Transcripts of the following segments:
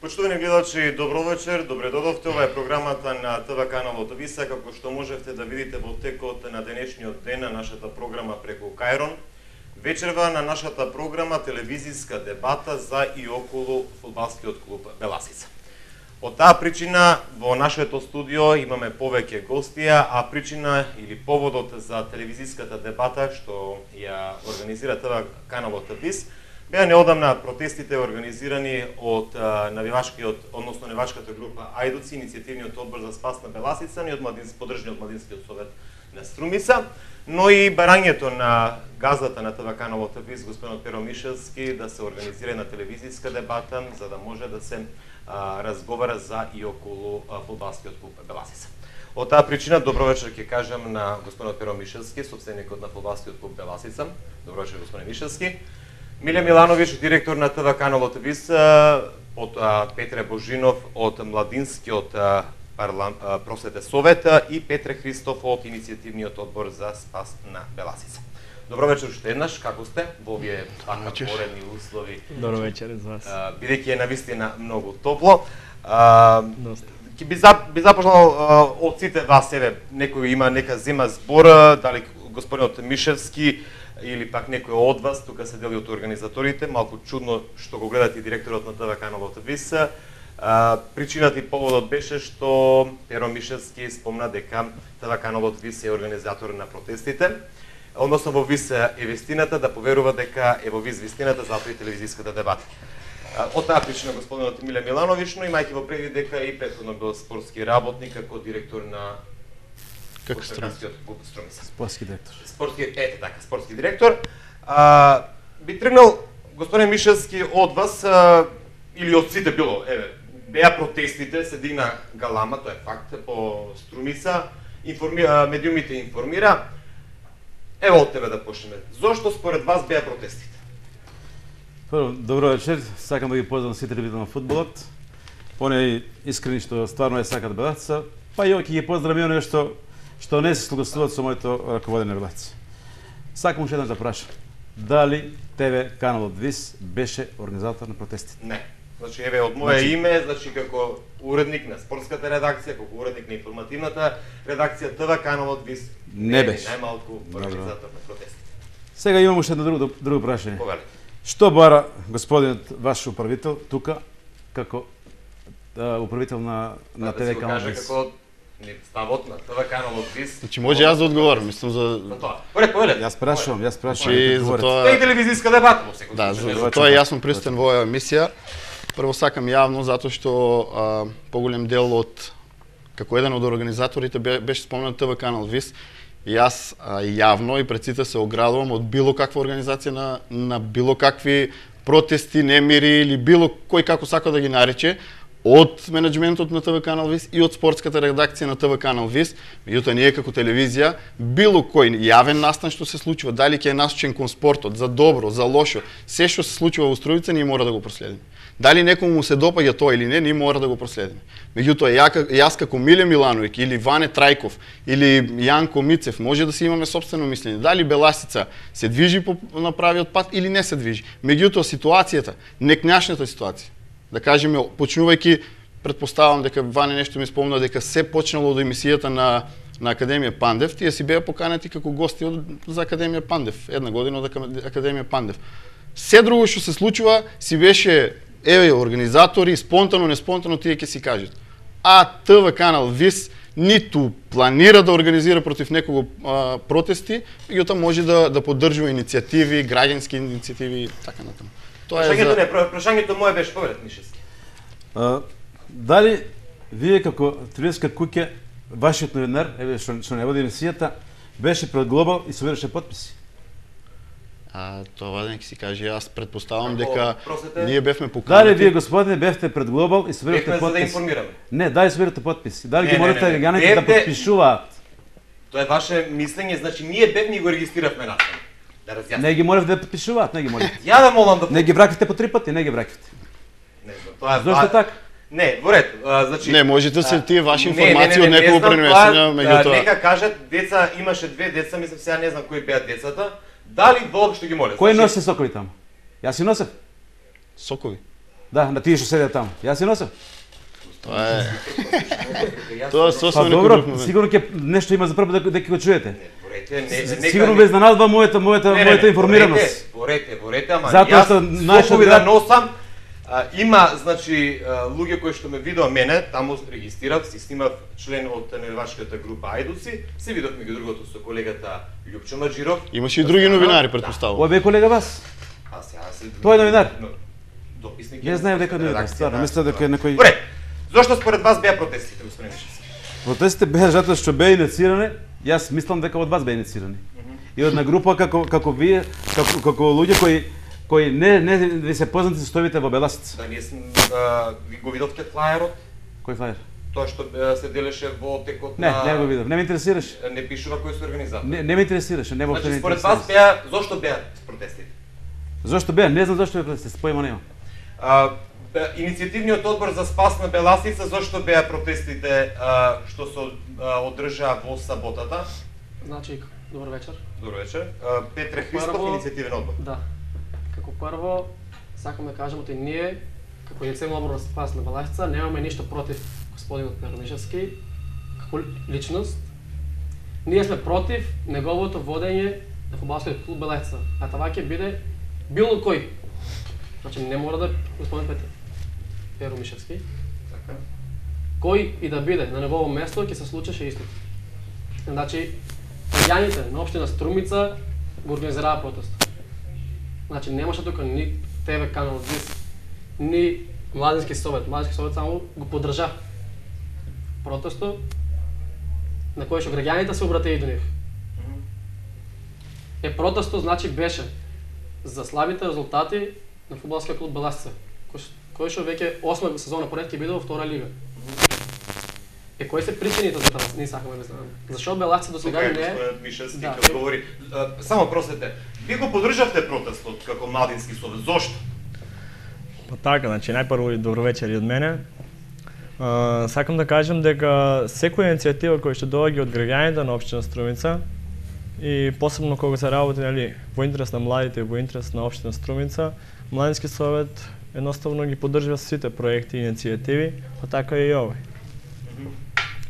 Почитувани гледачи, добро вечер, добре додовте. Ова е програмата на ТВ каналот Виса, како што можевте да видите во текот на денешниот ден на нашата програма преку Кајрон. Вечерва на нашата програма телевизиска дебата за и околу фудбалскиот клуб Беласица. Од таа причина во нашето студио имаме повеќе гостија, а причина или поводот за телевизиската дебата што ја организира ТВ каналот Вис беа неодамна протестите организирани од навивачкиот, односно навивачката група Ајдуци, иницијативниот одбор за спас на Беласица, и поддржани од Младинскиот совет на Струмица, но и барањето на газдата на ТВ каналот Вис, господинот Перо Мишевски, да се организира една телевизиска дебата за да може да се разговара за и околу фудбалскиот клуб Беласица. Од таа причина добро вечер ќе кажам на господинот Перо Мишевски, собственикот на фудбалскиот клуб Беласица. Добро вечер, господин Мишевски. Миле Милановиќ, директор на ТВ каналот Вис, од Петре Божинов од Младинскиот просветен совет и Петре Христов од иницијативниот одбор за спас на Беласица. Добро вечер уште еднаш, како сте во овие така поредни услови? Добро вечер за вас. Бидејќи е навистина многу топло. Би започнал од сите вас, некој има нека зема збор, дали господинот Мишевски или пак некој од вас, тука се дели од организаторите, малку чудно што го гледате и директорот на ТВ каналот Вис. Причината и поводот беше што Перо Мишевски спомна дека ТВ каналот Вис е организатор на протестите, односно во Вис е вистината, да поверува дека е во Вис вистината, затоа и телевизиската дебата. Од таа причина господинот Миле Милановиќ, но имајќи во предвид дека и претходно бил спортски работник како директор на Стромискиот клуб Струмица. Спортски директор. Спортски директор. Би тргнал господин Мишевски од вас или од сите било, беа протестите, се дигна галама, тоа е факт, по Струмица, медиумите информира. Ево од тебе да почнеме. Зошто според вас беа протестите? Прво, добро вечер, сакам да ги поздравам сите любители на фудбалот, они искрени што стварно е сакат Беласица, па и ќе ги поздравам и што не се согласуваат со моето раководење релација. Сакам уште еднаш да прашам, дали ТВ каналот Вис беше организатор на протестите? Не. Значи, еве, од моје име, значи, како уредник на спортската редакција, како уредник на информативната редакција, ТВ каналот Вис не беше најмалку организатор на протестите. Сега имам уште едно друго прашање. Повели. Што бара господинот ваш управител тука како управител на ТВ каналот Вис? Ставот на ТВ каналот Вис. Значи може јас да одговорам, мислам за тоа. Повели. Јас прашувам. Тоа е телевизиска дебата во секој случај. За тоа е јасно присутен во оваа емисија. Прво сакам јавно затоа што поголем дел од како еден од организаторите беше спомнат ТВ канал Вис. Јас јавно и пред сите се оградувам од било каква организација на било какви протести, немири или било кој како сака да ги нарече, од менеджментот на ТВ канал Вис и од спортската редакција на ТВ канал Вис. Меѓутоа ние како телевизија, било кој јавен настан што се случува, дали ќе е насочен кон спортот, за добро, за лошо, се што се случува во Струмица, ние мора да го проследиме. Дали некому му се допаѓа тоа или не, ние мора да го проследиме. Меѓутоа јас како Миле Милановиќ или Ване Трајков или Јанко Мицев може да си имаме сопствено мислење, дали Беласица се движи по на правиот пат или не се движи. Меѓутоа ситуацијата, некнашната ситуација, да кажеме, почнувајќи, предпоставам дека Ване нешто ми спомна дека се почнало од емисијата на Академија Пандев, тие си беа поканети како гости за Академија Пандев, една година од Академија Пандев. Се друго што се случува си беше организатори, спонтано, неспонтано тие ќе си кажат. А ТВ канал Вис ниту планира да организира против некого протести, меѓутоа може да поддржува иницијативи, граѓански иницијативи и така натаму. Прашањето моје беше повелет Мишевски. Дали вие како телевизиска куќа, вашиот новинар, што не води емисијата, беше пред Глобал и собираше потписи? Тоа нека си каже, јас предпоставам дека ние бевме поканети. Дали вие господине бевте пред Глобал и собирате потписи? За да информираме. Не, дали собирате потписи? Дали ги можете граѓаните да потпишуваат? Тоа е ваше мислење, значи ние бевме и го регистриравме настан. Да разјасним. Не ги молевте да потпишуваат, не ги молевте. Ја да молам да. Не ги вракивте по 3 пати, не ги вракивте. Не, тоа е. Зошто така? Не, во ред, значи не можете да се тие ваши информации од некого пренесени, меѓутоа. Нека кажат, деца имаше 2 деца, мислам сега не знам кои беа децата. Дали воопшто ги моле? Кој носи сокови таму? Јас си носев. Сокови? Да, на тие што седеат таму. Јас си носам. Тоа е. Тоа е сосема некој Добро, друг момент. сигурно ќе нешто има за прво дека го чуете. Сигурно без ве изненадва мојата информираност. Борете, ама Затоа што нашиот да носам. Има, значи, луѓе кои што ме видоа мене, таму регистрирав, си снимав член од невашката група Ајдуци, се видовме ги другото со колегата Љупчо Маџиров. Имаше и други новинари, претпоставувам. Ој бе колега вас. Тој е новинар. Дописник. Јас знаев дека новинар, стварно, мислев дека е некој. Добре. Зошто според вас беа протестите, господин Мишевски? Протестите беа затоа што беа инициирани, јас мислам дека од вас беа инициирани. И од една група како вие, како луѓе кои не ви се познати состојбите во Беласица. Да, ние ви го видовте флаерот? Кој флаер? Тоа што се делеше во текот Не, на... не го видов. Не ме интересираше. Не пишува кој се организатор. Не ме интересираше, не воопшто не Значи, според интересираше. вас зошто беа протестите? Зошто беа? Не знам зошто беа протестите, поима немам. Иницијативниот одбор за спас на Беласица, зошто беа протестите што се одржаа во саботата? Значи, добар вечер. Добро вечер. Петре Христов, иницијативен одбор. Да. Како прво, сакам да кажам дека ние, како иницијативен одбор за спас на Беласица, немаме ништо против господинот Пернишевски, како личност. Ние сме против неговото водење на фудбалскиот клуб Беласица. А това ќе биде било кој. Значи, не мора да господин Перо Мишевски. Така. Кој и да биде на негово место ќе се случеше истото. Значи, граѓаните на општина Струмица го организираа протест. Значи, немаше тука ни ТВ канал ДИС, ни Младински совет. Младински совет само го поддржа протестот на кој што граѓаните се обратеа до нив. Протестот значи беше за слабите резултати на фудбалскиот клуб Беласица, кој што веќе 8 сезона поред ќе биде во втора лига. Кои се причините за тоа? Не сакаме да знаеме. Зашо Беласица досега не е? Господин Мишевски ќе одговори. Само просете, ви го поддржавте протестот како Младински совет. Зошто? Па така, значи најпрво и добро вечер и од мене. Сакам да кажам дека секоја иницијатива која што доаѓа од граѓаните на општина Струмица и посебно кога се работи во интерес на младите, во интерес на општина Струмица, Младински совет едноставно ги поддржува сите проекти и иницијативи, па така и овој.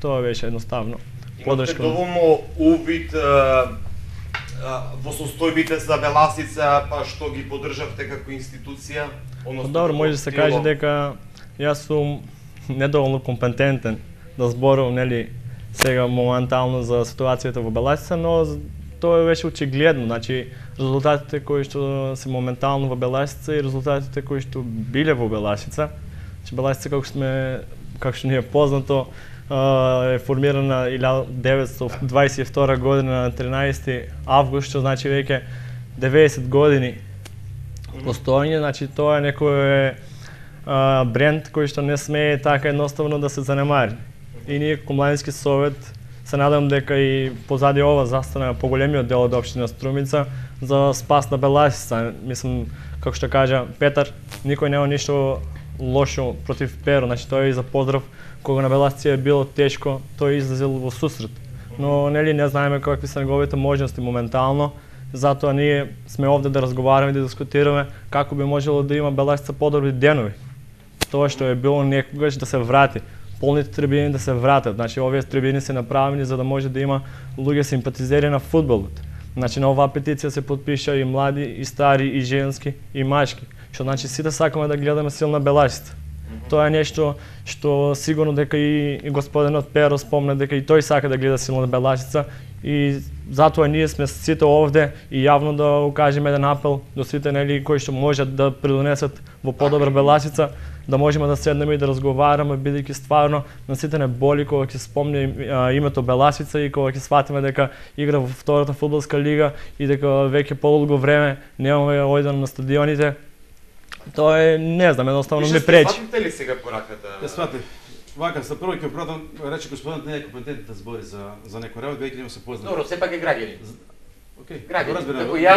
Тоа беше едноставно. Имате доволно увид во состојбите за Беласица, па што ги поддржавте како институција? Добро, може да се каже дека јас сум недоволно компетентен да зборувам сега моментално за ситуацијата во Беласица, но тоа беше очигледно, значи резултатите кои што се моментално во Беласица и резултатите кои што биле во Беласица. Значи Беласица како што ни е познато е формирана 1922 година на 13 август, што значи веќе 90 години постоење, значи тоа е некој бренд кој што не смее така едноставно да се занемари. И ние како Младински совет се надам дека и позади ова застана поголемиот дел од општина Струмица за спас на Беласица. Мислам, како што кажа Петар, никој нема ништо лошо против Перо, значи тој е за поздрав. Кога на Беласица е било тешко, тој излезел во сусрет. Но не знаеме какви се неговите можности моментално, затоа ние сме овде да разговараме и да дискутираме како би можело да има Беласица подобри денови. Тоа што е било некогаш да се врати, полните трибини да се вратат. Значи овие трибини се направени за да може да има луѓе симпатизери на фудбалот. Значи на оваа петиција се потпиша и млади, и стари, и женски, и мачки. Што значи сите сакаме да гледаме силна Беласица. Тоа е нешто што сигурно дека и господинот Перо спомна дека и тој сака да гледа силна Беласица и затоа ние сме сите овде и јавно да укажеме еден апел до сите кои што можат да придонесат во подобра Беласица, да можеме да седнеме и да разговараме, бидејќи стварно на сите не боли кога ќе спомне името Беласица и кога ќе сватиме дека игра во втората фудбалска лига и дека веќе подолго време немаме ојден на стадионите. Тоа е, не знам, едноставно ми пречи. Сватите ли сега пораката? Ја сватив. Вака, за прво ќе пратам, рече господинот не е компетентен да збори за некој работ, веќе нема се познат. Добро, сепак е граѓанин. Океј, граѓанин.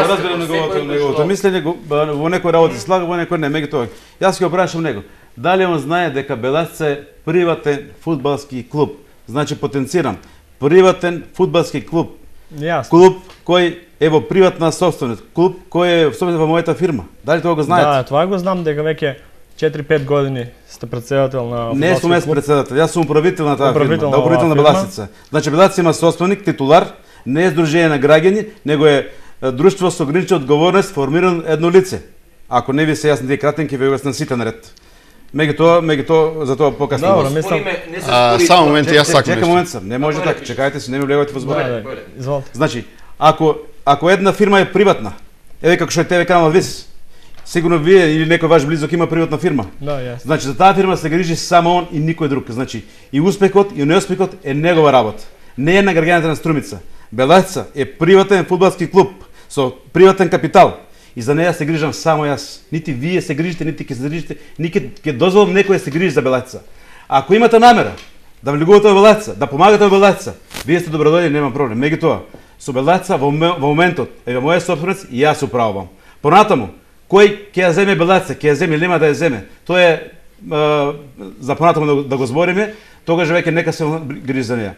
разберам неговото мислење, во некој работи слага, во некој не, меѓутоа. Јас ќе го прашам него. Дали он знае дека Беласица е приватен фудбалски клуб? Значи потенцирам, приватен фудбалски клуб. Јасно. Клуб кој е во приватна собственост, клуб кој е собствен во мојата фирма. Дали тоа го знаете? Да, тоа го знам дека веќе 4-5 години сте председател на Не сум јас председател, јас сум управител на таа Управител фирма, на управител на оваа Беласица. Значи Беласица има собственик, титулар, не е здружение на граѓани, него е друштво со ограничена одговорност, формирано едно лице. Ако не ви се јасни тие кратен, ќе ви објаснам сите наред. Меѓутоа за тоа покасно. Добро, мислам. Само момент, јас сакам Чекам нешто. момент сам, не може така, чекајте се, не ми влегувате во збор. Изволите. Значи, ако една фирма е приватна, еве како што е ТВ канал ВИС, сигурно вие или некој ваш близок има приватна фирма. Да, јасно. Значи за таа фирма се грижи само он и никој друг. Значи и успехот и неуспехот е негова работа. Не е на граѓаните на Струмица. Беласица е приватен фудбалски клуб со приватен капитал. И за неја се грижам само јас. Нити вие се грижите, нити ќе се грижите, нити ќе дозволам некој да се грижи за Беласица. Ако имате намера да влегувате во Беласица, да помагате во Беласица, вие сте добродојдени, нема проблем. Меѓутоа, со Беласица во моментот е моја собственост и јас управувам. Понатаму, кој ќе ја земе Беласица, ќе ја земе или нема да ја земе, тоа е за понатаму да го збориме, тогаш веќе нека се грижи за неја.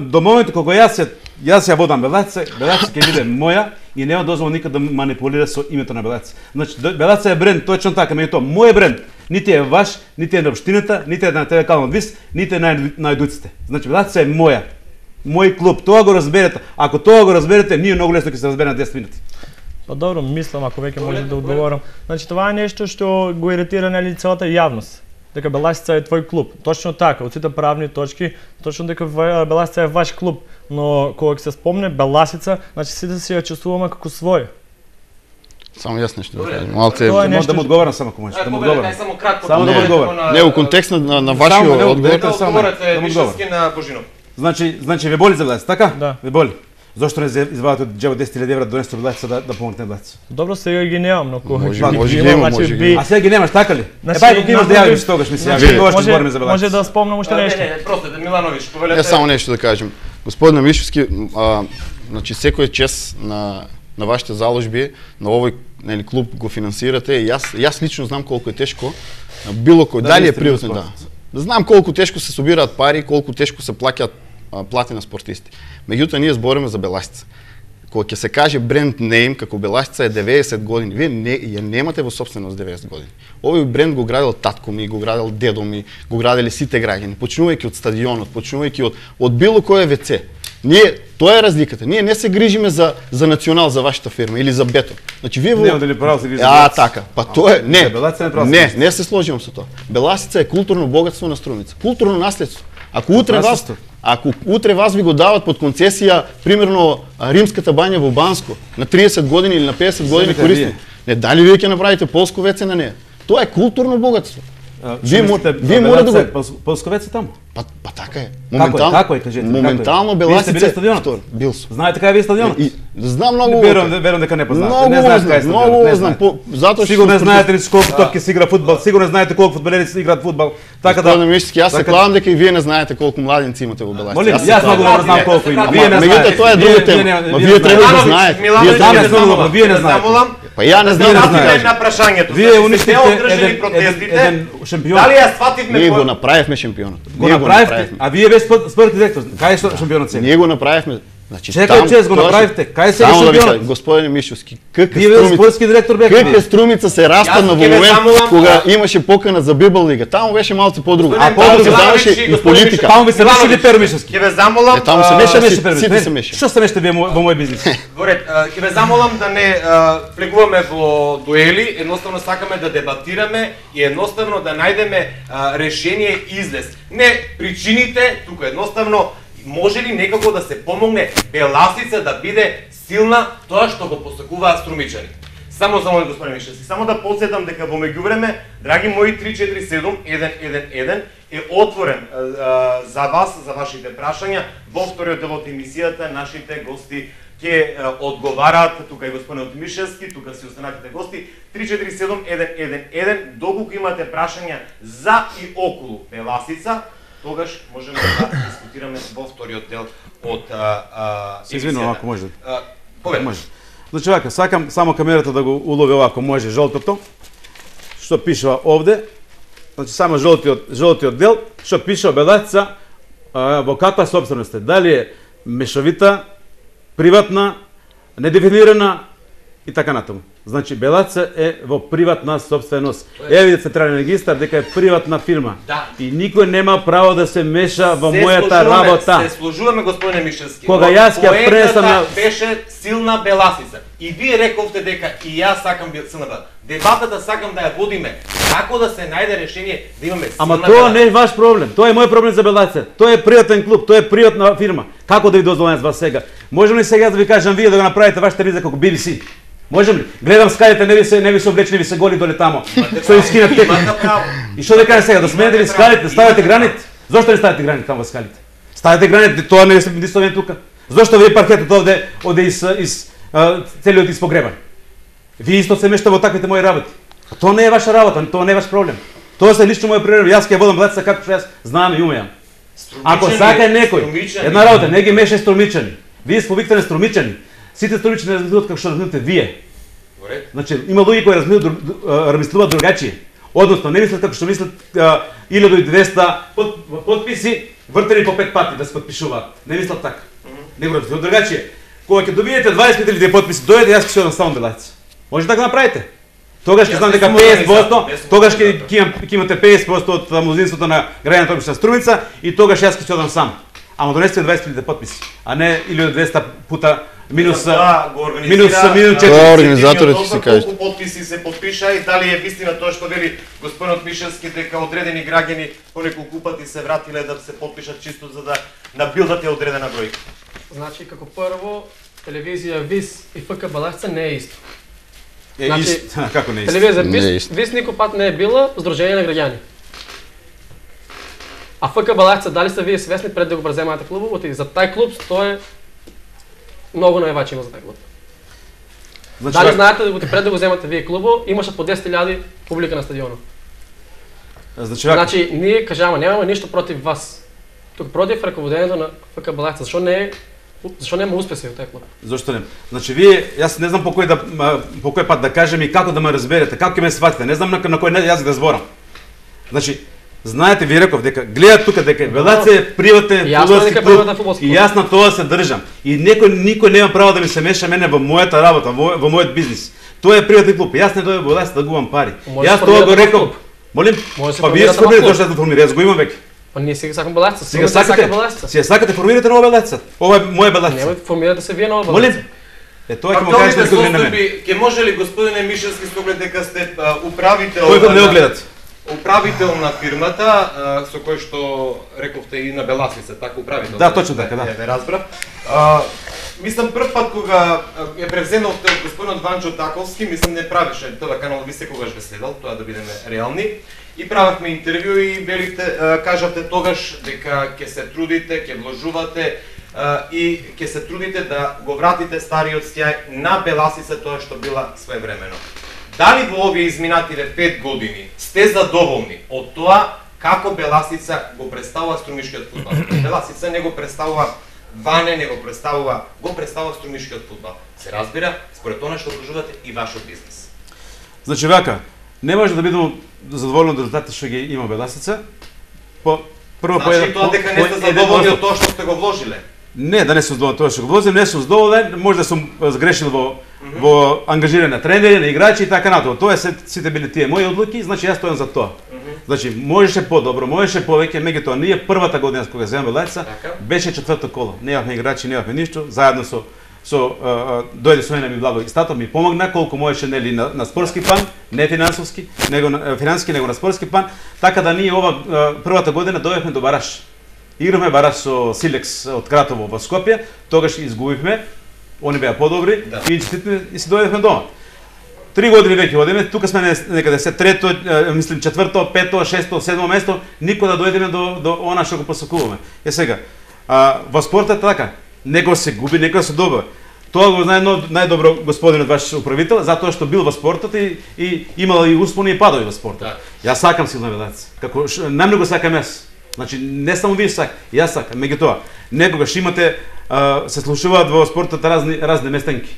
До моментот кога јас ја водам Беласица, Беласица ќе биде моја и нема дозволам никад да манипулира со името на Беласица. Значи Беласица е бренд, точно така, меѓутоа мој бренд нити е ваш, нити е на општината, нити е на ТВ канал ВИС, нити е на едуците. Значи Беласица е моја. Мој клуб, тоа го разберете. Ако тоа го разберете, ние многу лесно ќе се разбереме на 10 минути. Па добро, мислам ако веќе може да одговорам. Значи това е нешто што го иритира нели целата јавност. Дека Беласица е твој клуб. Точно така, од сите правни точки, точно дека Беласица е ваш клуб, но кога се спомне Беласица, значи сите си ја чувствуваме како свој. Само јас нешто да кажам. Малце Тоа е Може да му одговорам само ако може. Да му одговорам. Само да му одговорам. не, у контекст на вашиот одговор. Одговорете вишески на Божинов. Значи ве боли за Беласица, така? Да. Ве боли. Зошто не извадите од џебот 10.000 евра донесете Беласица да помогнете на Беласица? Добро, сега ги немам, но кога Може ги да има, значи може да би- има. А сега ги немаш, така ли? Значи, Па ако имаш да може- јавиш тогаш ми се значи, јави. Тогаш ќе збориме за може Беласица. да спомнам уште нешто. Не, просто Милановиќ, повелете. Само нешто да кажем. Господин Мишевски, значи секој чест на вашите заложби, на овој нели клуб го финансирате. И јас лично знам колку е тешко на било кој, Да, дали вие е сте приватен, бил да. Знам колку тешко се собираат пари, колку тешко се плаќаат плати на спортисти. Меѓутоа ние збориме за Беласица. Кога ќе се каже бренд нейм како Беласица е 90 години, вие ја немате во собственост 90 години. Овој бренд го градел татко ми, го градел дедо ми, го граделе сите граѓани, почнувајќи од стадионот, почнувајќи од било кој ВЦ. Ние, тоа е разликата. Ние не се грижиме за национал, за вашата фирма или за Бето. Значи вие Нема дали право се грижи за А, Беласица. така. Па тоа е, не. Беласица не право се грижи. Не се сложувам со тоа. Беласица е културно богатство на Струмица. Културно наследство. Ако утре вас ви го дават под концесија, примерно римската бања во Банско, на 30 години или на 50 години Земете користи. вие. Не, дали вие ќе направите полско веце на неја? Тоа е културно богатство. Вие вие мора да го Полсковец е таму. Па така е. Како е, кажете, Моментално како е? Вие сте били Беласица стадионот? втор. Бил сум. Знаете кај ви е стадионот? И знам многу. Верувам дека не познавате. Не знаете кај е стадионот. Многу Не знам. знаете. Затоа што Сигурно не знаете ни колку топки се игра фудбал, сигурно не знаете колку фудбалери се играат фудбал. Така да. Господине Мишевски, јас се така- клавам дека и вие не знаете колку младенци имате во Беласица. Молим, се јас клавам. многу добро знам колку има. Вие не Меѓутоа знаете. тоа е друга тема. Ма вие треба да знаете. Вие знам, треба јас многу добро, вие не знаете. Па ја не знам Вие не да знаете. кажам. на прашањето. Вие уништите не одржали еден протестите. шампион. Дали ја свативме Ние го направивме шампионот. Го направивте, а вие без спортни директор. Кај е шампионот сега? Ние го направивме. Значи Чекај, чест го тоа направивте. Кај сега Само да ви шампионот? кажам, господине Мишевски, какви Вие бе спортски директор бевте. Каква Струмица се распадна Јас во ќе ве момент замолам, кога имаше покана за Библ лига. Таму беше малку подруго. Господин Таму се Милановиќ заврши и и господин политика. Таму ви се мешали Пермишевски. Ќе ве замолам. Таму се Што меша се сите се мешате? меша. Што се мешате вие во мој бизнис? Горет, ќе ве замолам да не влегуваме во дуели, едноставно сакаме да дебатираме и едноставно да најдеме решение и излез. Не причините, тука едноставно може ли некако да се помогне Беласица да биде силна, тоа што го посакуваат струмичани. Само за мој господин Мишевски, само да подсетам дека во меѓувреме, драги мои 347-111 е отворен за вас, за вашите прашања. Во вториот дел од емисијата нашите гости ќе одговараат, тука е господин Мишевски, тука си останатите гости. 347-111, доколку имате прашања за и околу Беласица, тогаш можеме да дискутираме во вториот дел од Се извинувам ако може. Повеќе. Може. Значи вака, сакам само камерата да го улови овако може жолтото. Што пишува овде? Значи само жолтиот дел, што пишува Беласица во каква собственост е? Дали е мешовита, приватна, недефинирана и така натаму. Значи Белаца е во приватна собственост. Еве централен регистар дека е приватна фирма. Да. И никој нема право да се меша во мојата работа. Се служуваме, господине Мишевски. Кога јас ќе пресам беше силна Беласица. И вие рековте дека и јас сакам силна Беласица. Дебатата сакам да ја водиме. Како да се најде решение да имаме силна Ама тоа не е ваш проблем. Тоа е мој проблем за Белаца. Тоа е приватен клуб, тоа е приватна фирма. Како да ви дозволам вас сега? Можам ли сега да ви кажам вие да го направите вашата телевизија како BBC? Можем ли? Гледам скалите, не ви се облечени, ви се голи доле тамо. Со искинат текни. И што да кажа сега, да сменете ли скалите, ставате граните? Зошто не ставате граните таму во скалите? Ставате граните, тоа не е нисто тука. Зошто ви паркетот оде из целиот испогребан? Вие исто се мешта во таквите мои работи. Тоа не е ваша работа, тоа не е ваш проблем. Тоа се лично мој проблем. Јас ќе водам Белаца како што јас знам и умеам. Ако сака некој, една работа, не ги мешај струмичани. Вие сповикате струмичани. Сите струмичани размислуваат како што размислувате вие. Значи, има луѓе кои размислуваат другачие. Односно, не мислат како што мислат 1200 потписи вртени по 5 пати да се потпишуваат. Не мислат така. Не го размислуваат другачие. Кога ќе добиете 20.000 потписи, дојдете, јас ќе се одам само Белаца. Може да го направите. Тогаш ќе знам дека 50%, тогаш ќе имате 50% од мнозинството на граѓаните на општина Струмица и тогаш јас ќе се одам сам. Ама донесете 20.000 потписи, а не 1200 пута минус 4. Тоа организаторите ќе се кажат. Колку потписи се потпиша и дали е вистина тоа што вели господинот Мишевски дека одредени граѓани по неколку пати се вратиле да се потпишат чисто за да набилдат ја одредена бројка. Значи, како прво, телевизија ВИС и ФК Беласица не е исто. Како не е исто? Телевизија ВИС никој пат не е била здружение на граѓани. А ФК Беласица, дали сте вие свесни пред да го преземате клубот и за тај клуб тоа е многу највачи има за тај клуб. Дали знаете дека пред да го земате вие клубот имаше по 10.000 публика на стадионот. Значи ние кажаме немаме ништо против вас. Тук против раководењето на ФК Беласица. Зашо нема успеси во тај клуб? Зошто не? Значи вие, јас не знам по кој пат да кажем и како да ме разберете, како ќе ме сватите. Не знам на кој јазик да зборам. Значи, знаете, ви реков дека гледат тука дека Белаца е приватен фудбалски клуб и јас на тоа се држам. И никој нема право да ми се меша мене во мојата работа, во мојот бизнис. Тоа е приватен клуб. Јас не дојдов во Белаца да губам пари. Јас тоа го реков. Молим, па вие сформирате зошто да формирате, јас го имам веќе. Па ние сега сакам Белаца. Сега сакате формирате нова Белаца. Ова е моја Белаца. Нема формирате се вие нова Белаца. Молим. Тоа ќе му кажете што не мене. Ќе може ли господине Мишевски со оглед дека сте управител? Кој не го гледат? Управител на фирмата со кој што рековте и на Беласица, така управител. Да, точно така, да. Ве разбрав. Мислам прв пат кога ја превземавте од господинот Ванчо Таковски, мислам не правише ТВ канал, ви секогаш ве следел, тоа да бидеме реални. И правевме интервју и велите, кажавте тогаш дека ќе се трудите, ќе вложувате и ќе се трудите да го вратите стариот стјај на Беласица, тоа што била своевремено. Дали во овие изминативе 5 години сте задоволни од тоа како Беласица го представува струмишкиот фудбал? Беласица не го представува Ване, не го представува струмишкиот фудбал. Се разбира, според тоа што вложувате и вашиот бизнис. Значи вака, не може да бидеме задоволни од резултатите што ги има Беласица. Значи тоа дека не сте задоволни од тоа што сте го вложиле? Не, да не сум задоволен тоа што го вложим, не сум задоволен, може да сум сгрешил во ангажирање на тренери, на играчи и така натаму. Тоа сите били тие мои одлуки, значи јас стојам за тоа. Значи можеше подобро, можеше повеќе, меѓутоа ние првата година кога земаме Белаца беше четврто коло. Немавме играчи, немавме ништо, заедно дојде со мене ми благо и стато ми помогна колку можеше нели на спортски план, не финансовски, него на спортски план, така да ние ова првата година дојдовме до бараж. Игравме бараж со Силекс од Кратово во Скопје, тогаш изгубивме, они беа подобри и и си дојдовме дома. 3 години веќе одиме, тука сме некаде се трето, мислим четврто, пето, шесто, седмо место, никој да дојдеме до она што го посакуваме. Сега, во спортот така, некој се губи, некој се добива. Тоа го знае најдобро господинот ваш управител, затоа што бил во спортот и имал и успони и падови во спортот. Јас сакам силна Белаца, како најмногу сакам јас. Значи не само вие сакате, јас сакам, меѓутоа некогаш имате се случуваат во спортот разни местенки.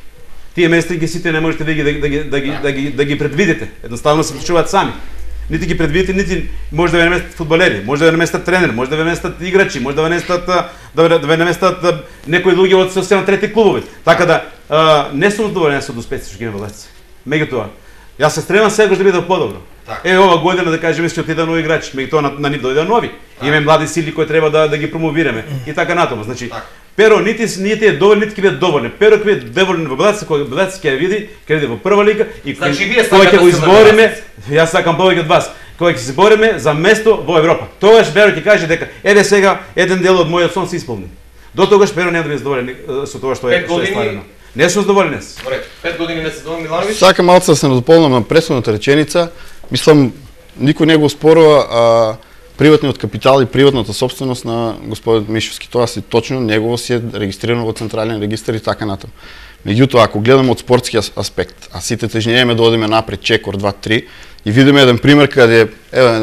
Тие местенки сите не можете да ги предвидите. Едноставно се случуваат сами. Нити ги предвидите, нити може да ве наместат фудбалери, може да ве наместат тренер, може да ве наместат играчи, може да ве наместат некои луѓе од социјално трети клубови. Така да не сум задоволен со успесите што ги има Белаца. Меѓутоа, јас се стремам секогаш да биде подобро. Така. Ова година да кажеме ќе отиде нови играчи, меѓутоа на нив дојде нови. Имаме млади сили кои треба да ги промовираме и така натаму. Значи, Перо нити е доволен, нити ќе биде доволен. Перо ќе биде доволен во Белаца, кога Белаца ќе види во прва лига и кога ќе го избориме, јас сакам повеќе од вас, кога ќе се бориме за место во Европа. Тогаш Перо ќе каже дека еве сега еден дел од мојот сон се исполни. До тогаш Перо нема да биде задоволен со тоа што е стварено. Не сум задоволен. 5 години не се Доман Милановиќ. Сакам малку да се надополнам на претходната реченица. Мислам, никој не го оспорува приватниот капитал и приватната собственост на господин Мишовски. Тоа си точно негово си е регистрирано во централен регистар и така натаму. Меѓутоа, ако гледаме од спортски аспект, а сите тежнееме да одиме напред чекор 2-3 и видиме еден пример каде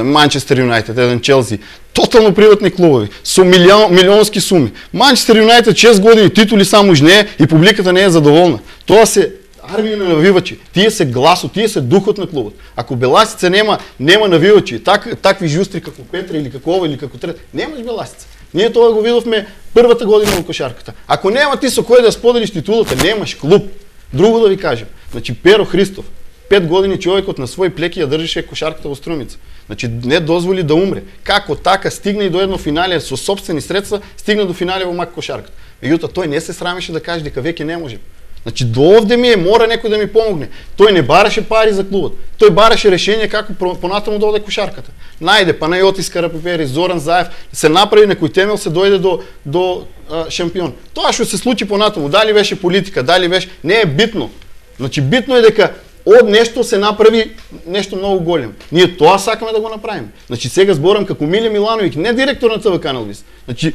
Манчестер Юнайтед, еден Челси, тотално приватни клубови со милионски суми. Манчестер Юнайтед 6 години титули само жнее и публиката не е задоволна. Тоа се армија на навивачи. Тие се гласот, тие се духот на клубот. Ако Беласица нема навивачи, такви жустри како Петра или како ова или како трет, немаш Беласица. Ние тоа го видовме првата година во кошарката. Ако нема ти со кој да споделиш титулата, немаш клуб. Друго да ви кажем. Значи Перо Христов, 5 години човекот на свој плеки ја држеше кошарката во Струмица. Значи не дозволи да умре. Како така стигна и до едно финале со сопствени средства, стигна до финале во мак кошарката. Меѓутоа тој не се срамеше да каже дека веќе не може. Значи до овде ми мора некој да ми помогне. Тој не бараше пари за клубот. Тој бараше решение како понатаму да оде кошарката. Најде Панајотис Карапепери, Зоран Заев, се направи некој темел, се дојде до шампион. Тоа што се случи понатаму, дали беше политика, дали беше, не е битно. Значи битно е дека од нешто се направи нешто многу големо. Ние тоа сакаме да го направиме. Значи сега зборам како Миле Милановиќ, не директор на ТВ Канал Вис. Значи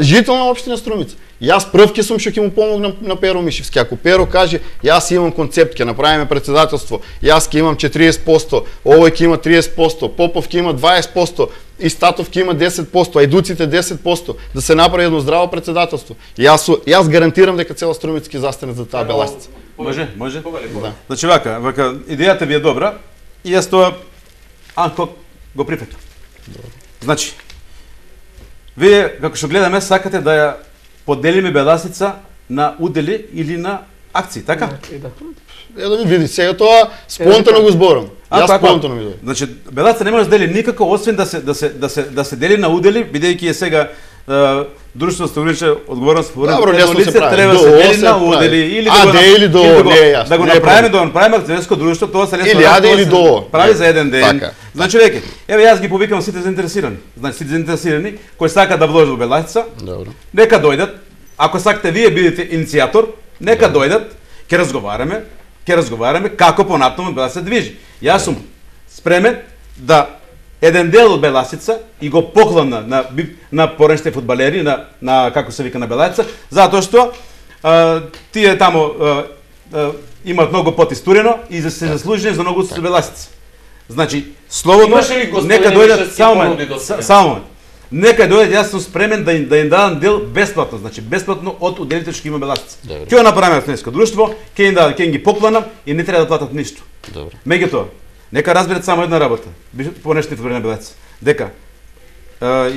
жител на општина Струмица. Јас прв ќе сум што ќе му помогнам на Перо Мишевски. Ако Перо каже, јас имам концепт, ќе направиме председателство, јас ќе имам 40%, овој ќе има 30%, Попов ќе има 20%, и Статов ќе има 10%, Ајдуците 10%, да се направи едно здраво председателство. Јас гарантирам дека цела Струмица ќе застане за таа Беласица. Може? Да. Значи вака, идејата ви е добра и јас тоа анкок го прифатам. Значи, вие како што гледаме сакате да ја поделиме Беласица на удели или на акции, така? Да ми види, сега тоа спонтано го зборам. Јас спонтано ми дојде. Значи Беласица не може да дели никако освен да се дели на удели, бидејќи е сега друштво што влече одговорност во лице, треба да се дели на удели или да го направиме акционерско друштво, тоа се лесно или аде или до прави за еден ден. Значи веќе, еве јас ги повикам сите заинтересирани. Значи сите заинтересирани кои сакаат да вложат во Беласица, нека дојдат. Ако сакате вие бидете иницијатор, нека дојдат, ќе разговараме како понатаму Беласица движи. Јас сум спремен да еден дел од Беласица и го поклона на поранешните фудбалери, на како се вика на Беласица, затоа што тие таму имаат многу потистурено и се заслужени за многу со Беласица. Значи, слободно, нека дојдат само. Нека дојдат, јас сум спремен да им дадам дел бесплатно, значи бесплатно од уделите што има Беласица. Ќе го направиме акционерско друштво, ќе им ги поклонам и не треба да платат ништо. Меѓутоа, нека разберат само една работа, понешните фудбалери на Беласица, дека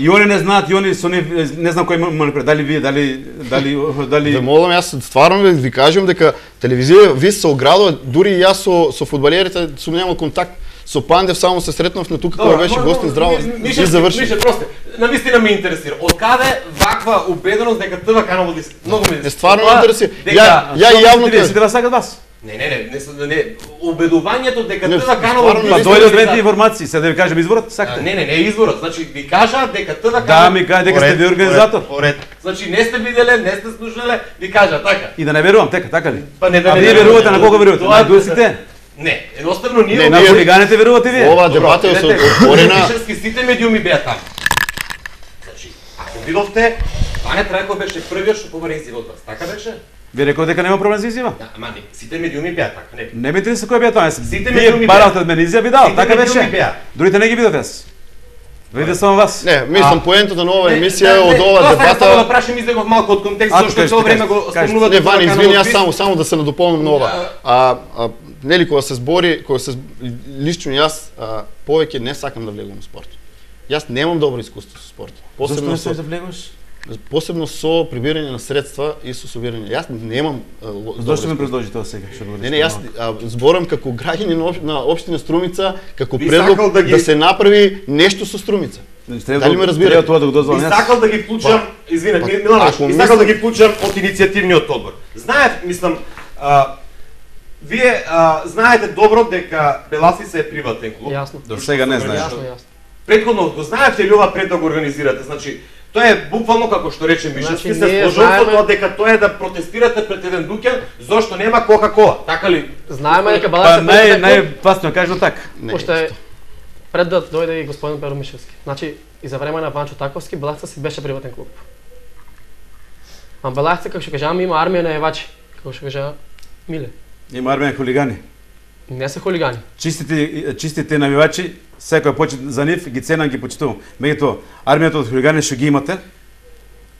и они не знаат, и они со не знам кој манипулира, дали вие, дали Ве молам, јас стварно ви кажам дека телевизија Вис се оградува, дури и јас со фудбалерите сум немал контакт. Со Пандев само се сретнав на тука кога беше гостин здраво и заврши. Мише, просто, навистина ме интересира. Од каде ваква убеденост дека ТВ Канал Вис? Многу ме стварно ме интересира. Ја јавно кажам, сите сакат вас. Не, убедувањето дека ТВ Канал Вис дојде од двете информации, сега да ви кажам изворот, сакате? Не изворот, значи ви кажа дека ТВ Канал Да, ми кажа дека сте ви организатор. Значи не сте виделе, не сте слушале, ви кажа така. И да не верувам, така ли? Па не а вие верувате на кого верувате? На дусите? Не, едноставно ние на хулиганите верувате вие. Ова дебата е отворена. Вишерски сите медиуми беа таму. Значи, ако видовте, Бане Трајков беше првиот што побара изјава од вас, така беше? Ви рекол дека нема проблем за изјава? Да, ама не, сите медиуми беа така, не. Не ме интересува кој беа тоа. Сите медиуми беа. Баравте од мене изјави дал, така беше. Другите не ги видов јас. Видите само вас. Не, мислам поентата на оваа емисија од оваа дебата. Само да прашам излегов малку од контекст зашто цело време го спомнувате. Не, Вани, извини, јас само да се надополнам на ова. Нели кога се збори, лично јас повеќе не сакам да влегувам во спорт. Јас немам добро искуство со спорт. Зошто не се да влегуваш? посебно со прибирање на средства и со собирање. Јас немам Зошто ме предложи тоа сега? Не, јас зборам како граѓанин на општина Струмица, како Би предлог сакал да ги- да се направи нешто со Струмица. Дали ме разбирате? Треба тоа да го дозволам Би јас. сакал да ги вклучам, Милановиќ, ако би сакал да ги вклучам од иницијативниот одбор. Мислам, вие знаете добро дека Беласица е приватен клуб. Јасно. До сега не знаеш. Јасно. Претходно го знаевте ли ова пред да го организирате? Значи, тоа е буквално како што рече Мишевски, Значи, се ние сложил со знаеме- тоа дека тоа е да протестирате пред еден дуќан зошто нема Кока-кола. Така ли? Знаеме дека Па Беласица најпасно е кажано така. Не, уште пред да дојде и господин Перо Мишевски. Значи, и за време на Ванчо Таковски, Беласица си беше приватен клуб. А Беласица, како што кажаме, има армија на евачи, како што кажа Миле. Има армија хулигани. Не се хулигани. Чистите навивачи, секој почит за нив ги ценам, ги почитувам. Меѓутоа, армијата од хулигани што ги имате,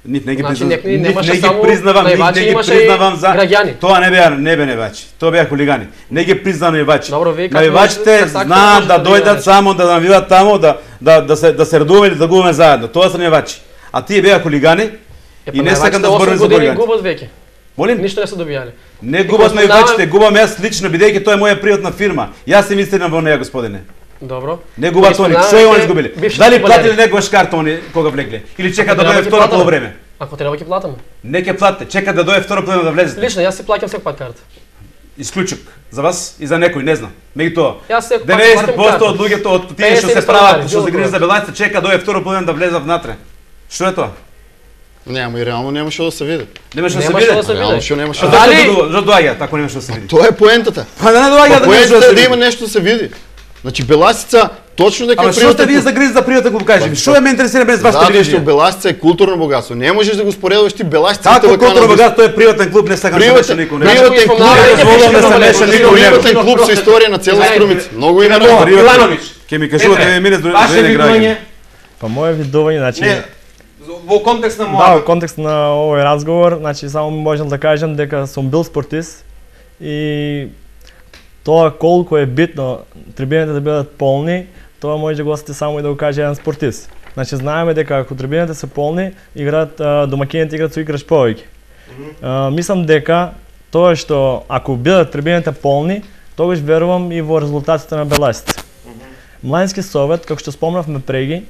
нив не ги Значи, признавам, некои немаше нив не ги само признавам, нив навивачи, не ги имаше и признавам за граѓани. Тоа не беа навивачи, тоа беа хулигани. Не ги признавам навивачи. Добро, вие како Навивачите можете, така знаат можете да да ги дојдат наречете. само да навиват таму, да се радуваме или да губиме заедно. Тоа се навивачи. А тие беа хулигани и не сакам да зборам за години хулигани. губат веќе. Молим? Ништо не се добијале. Не губат навивачите, губам јас лично, бидејќи тоа е моја приватна фирма. Јас се инвестирам во неја, господине. Добро. Не губат они, што е они изгубили? Бивши Дали фудбалери. платили некогаш карта они кога влегле? Или чека да Ако треба дојде ќе второ платаме. полувреме? Ако треба ќе платаме. Не ќе платите, чека да дојде второ полувреме да влезете. Лично јас си плаќам секој пат карта. Исклучок за вас и за некој, не знам. Меѓутоа, Јас секој пат 90% плаќам од луѓето од тие што 50 се прават, долари, што се било грижат кога. за Белајца, чека да дојде второ полувреме да влезат внатре. Што е тоа? Не, ама и реално нема што да се види. Немаше да се Немаше види. да се Реално види. што нема Што што. Дали- доаѓа, ако немаше да се види? Тоа е поентата. Па да не доаѓа да немаше да Поентата се е да види. има нешто да се види. Значи Беласица точно дека Ама е што сте приватен вие клуб. за грижа за пријатен клуб, кажи ми? Што ме интересира без вашата Затоа што религија? Беласица е културно богатство. Не можеш да го споредуваш ти Беласица и Како ТВК културно на богатство е приватен клуб, не сакам да се меша никој. приватен клуб, дозволувам да се меша никој у него. приватен клуб со историја на цела Струмица. Многу има Милановиќ, ново. Милановиќ, Ќе ми кажувате Петре, мине до ваше граѓани. видување, Па моје видување, значи не, во контекст на да, мојата. во контекст на овој разговор, значи само можам да кажам дека сум бил спортист и тоа колку е битно трибините да бидат полни, тоа може да го осети само и да го каже еден спортист. Значи знаеме дека ако трибините се полни, домакините играат со играч повеќе. Мислам дека тоа што ако бидат трибините полни, тогаш верувам и во резултатите на Беласица. Младински совет, како што спомнавме преги,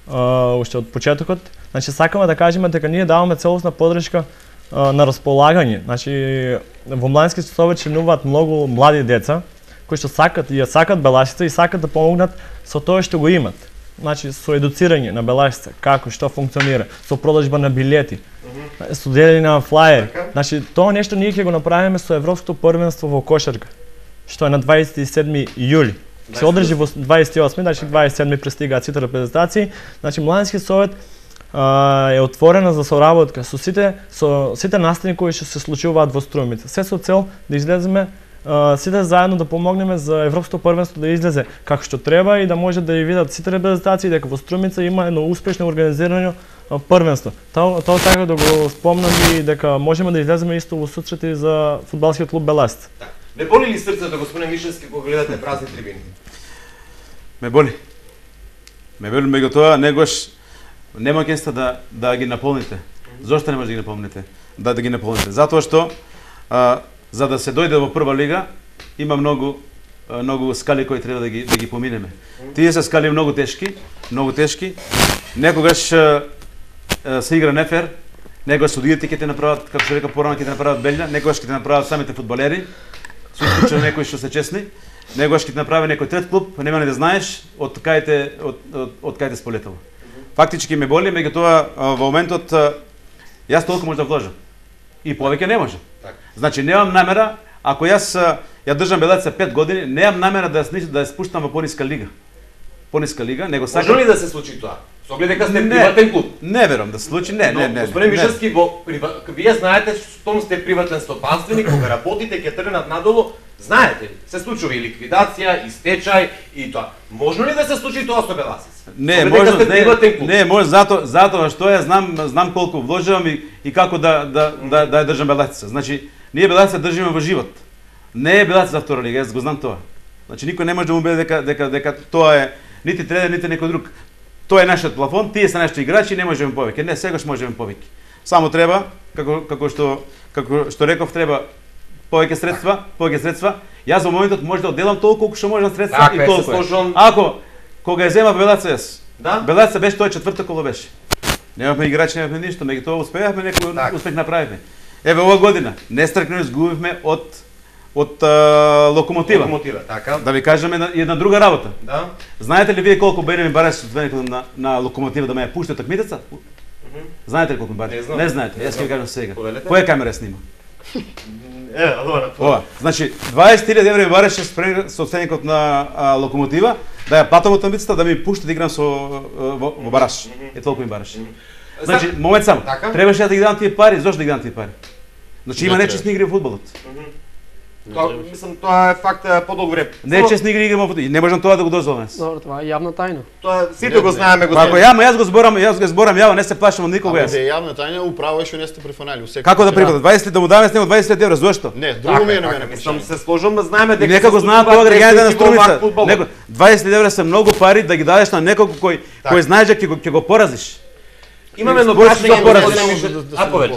уште од почетокот, значи сакаме да кажеме дека ние даваме целосна подршка на располагање. Значи во Младински совет членуваат многу млади деца кои што сакат и ја сакат Беласица и сакат да помогнат со тоа што го имат. Значи со едуцирање на Беласица, како што функционира, со продажба на билети, со делење на флаери. Значи тоа нешто ние ќе го направиме со Европското првенство во кошарка, што е на 27 јули. Се одржи во 28, значи 27 пристигаат сите репрезентации. Значи Младински совет е отворена за соработка со сите настани кои што се случуваат во Струмица. Се со цел да излеземе сите заедно да помогнеме за Европското првенство да излезе како што треба и да може да ја видат сите репрезентации дека во Струмица има едно успешно организирано првенство. Тоа така да го спомнам и дека можеме да излеземе исто во сусрети за фудбалскиот клуб Беласица. Не боли ли срцето, господин Мишевски, кога гледате празни трибини? Ме боли. Ме боли, меѓутоа негош нема кеста да ги наполните. Зошто не може да ги наполните? Да ги наполните. Затоа што за да се дојде во прва лига има многу скали кои треба да ги поминеме. Тие се скали многу тешки. Некогаш се игра нефер, некогаш судиите ќе те направат, како што река порано, ќе те направат белја, некогаш ќе те направат самите фудбалери, со исклучено некои што се честни, некогаш ќе те направи некој трет клуб, нема ни да знаеш од кај те сполетало. Фактички ме боли, меѓутоа во моментот јас толку може да вложам. И повеќе не може. Значи немам намера, ако јас ја држам Белаица 5 години, немам намера да ја спуштам во пониска лига. Пониска лига, него сакам. Може ли да се случи тоа? Со оглед дека сте приватен клуб. Не верувам да се случи, не. Господин Мишевски, вие знаете што сте приватен стопанственик, кога работите ќе тргнат надолу, знаете ли? Се случува и ликвидација, и стечај, и тоа. Можно ли да се случи тоа со Беласица? Не, може затоа што ја знам колку вложувам и како да ја држам Беласица. Значи, ние Беласица држиме во живот. Не е Беласица за втора лига, јас го знам тоа. Значи никој не може да му биде дека тоа е нити Тредер, нити некој друг. Тоа е нашиот плафон, тие се нашите играчи, не можеме повеќе. Не, сегаш можеме повеќе. Само треба, како што реков, треба повеќе средства. Јас во моментот може да одделам толку колку што можам средства и толку. Ако кога ја земав Белаца јас. Да? Белаца беше тоа четврта коло беше. Немавме играчи, немавме ништо, меѓутоа успеавме, некој успех направивме. Еве ова година нестрекно изгубивме од Локомотива. Така. Да ви кажеме една друга работа. Да. Знаете ли вие колку бене ми бараше соодветникот на Локомотива да ме ја пушти такмицата? Знаете ли колку ми бараше? Не знаете. Јас ќе ви кажам сега. Која камера снима? Ова. Значи 20.000 евра ми бараше соодветникот на Локомотива да ја платам од тамбицата да ми пушти да играм во бараш. Е толку ми бараше. Значи момент само. Требаше да ги дадам тие пари, зошто да ги дадам тие пари? Значи има нечесни игри во фудбалот. Мислам тоа е факт подолго време. Нечесни игри играме во фудбалот. Не можам тоа да го дозволам. Добро, това е јавна тајна. Тоа сите го знаеме, го знаеме. Јас го зборам јаво, не се плашам од никого јас. Е јавна тајна, управо е што не сте прифанали. Како да прифанали? 20 да му даваме с него 20 евра, зошто? Не, друго ми е на мене. Мислам се сложам, знаеме дека нека го знаат тоа граѓаните на Струмица. 20 евра се многу пари да ги дадеш на некој кој знаеш дека ќе го поразиш. Имаме едно прашање.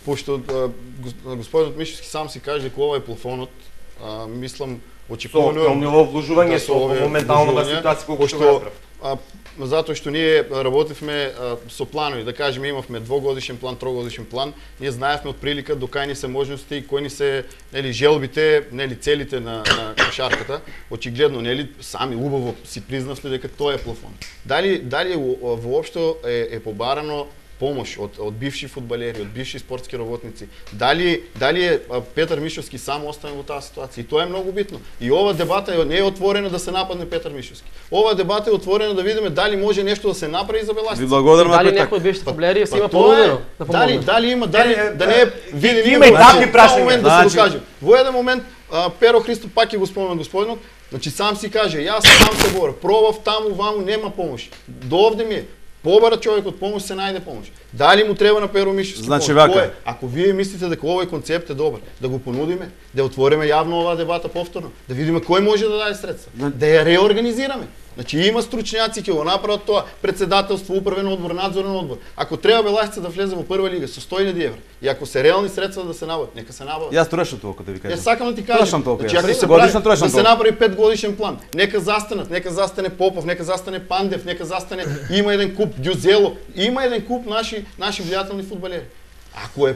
Пошто господинот Мишевски сам си каже дека ова е плафонот, мислам очекувано ниво вложување со моментална ситуација колку што го затоа што ние работевме со планови, да кажеме имавме двогодишен план, трогодишен план, ние знаевме од прилика до кај ни се можности, кои ни се нели желбите, нели целите на кошарката. Очигледно нели сами убаво си признавте дека тоа е плафон. Дали воопшто е побарано помош од бивши фудбалери, од бивши спортски работници. Дали е Петар Мишевски сам оставен во таа ситуација? И тоа е многу битно. И ова дебата не е отворена да се нападне Петар Мишевски. Ова дебата е отворена да видиме дали може нешто да се направи за Беласица. Ви благодарам на дали некој од бившите фудбалери си има понудено да помогне. Дали има да не е види има и такви прашања да се докаже. Во еден момент Перо Христо пак ќе го спомена господинот, значи сам си каже, јас сам се борам, пробав таму ваму нема помош. До овде ми е побара човек од помош се најде помош. Дали му треба на Перо Мишевски? Значи вака. Ако вие мислите дека овој концепт е добар, да го понудиме, да отвориме јавно оваа дебата повторно, да видиме кој може да даде средства, да ја реорганизираме. Значи има стручњаци ќе го направат тоа, председателство, управен одбор, надзорен одбор. Ако треба Беласица да влезе во прва лига со 100.000 евра и ако се реални средства да се набават, нека се набават. Јас трошам толку да ви кажам. Јас сакам да ти кажам. Значи ако се годишно да се направи 5 годишен план, нека застанат, нека застане Попов, нека застане Пандев, нека застане има еден куп Ѓузело, има еден куп наши влијателни фудбалери. Ако е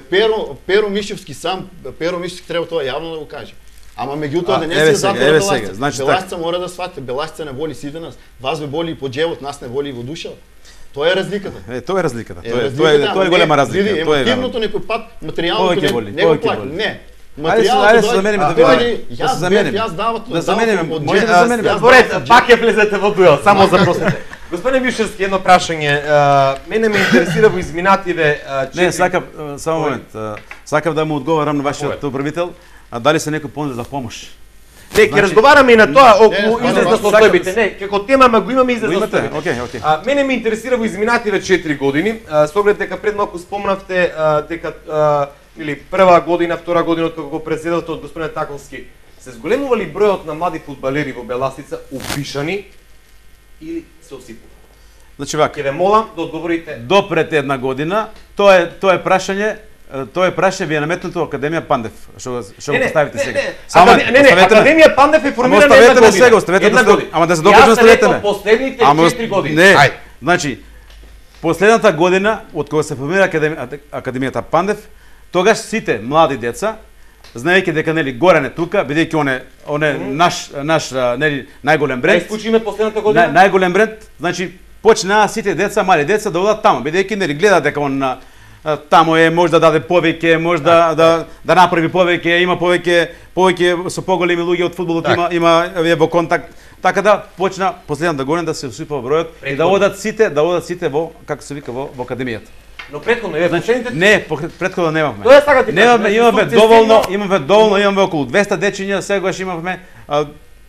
Перо Мишевски сам, Перо Мишевски треба тоа јавно да го каже. Ама меѓутоа да не се затвора Беласица. Значи Беласица мора да свати, Беласица не боли сите нас. Вас ве боли и по џевот, нас не боли и во душата. Тоа е разликата. Тоа е разликата. Тоа е голема разлика. Тоа е емотивното некој пат, материјалното не го плаќа. Не. Материјалното да замениме да видиме. Јас давам да замениме. Може да замениме. Добре, пак ќе влезете во дуел, само запросите. Господин Мишевски, едно прашање. Мене ме интересира во изминативе Не, сакав само момент. Сакав да му одговарам на вашиот управител. А дали се некој понуди за помош? Не, ќе разговараме и на тоа околу излез на состојбите. Не, како тема го имаме излез на состојбите. Окей. Мене ме интересира во изминативе 4 години, со оглед дека пред малку спомнавте дека или прва година, втора година од кога го преседавте од господин Таковски, се зголемува ли бројот на млади фудбалери во Беласица упишани или се осипува? Значи вака. Ќе ве молам да одговорите. До пред една година, тоа е прашање ви е наметнато Академија Пандев, што го поставите сега. Академија Пандев е формирана една година. Оставете сега, ама да се докажам, оставете ме. Последните 4 години. Не, значи, последната година, од кога се формира Академијата Пандев, тогаш сите млади деца, знаејќи дека нели Горан е тука, бидејќи он е наш нели најголем бренд. Исклучиме последната година. Најголем бренд, значи почнаа сите деца, мали деца да одат таму, бидејќи нели гледаат дека он таму може да даде повеќе, може да направи повеќе, има повеќе со поголеми луѓе од фудбалот, има во контакт. Така да почна последната година да се усипува бројот и да одат сите во како се вика во академијата. Но претходно е последните. Не, претходно немавме. Тоа сакате. Имаме доволно, имаме околу 200 дечиња, сегаш имавме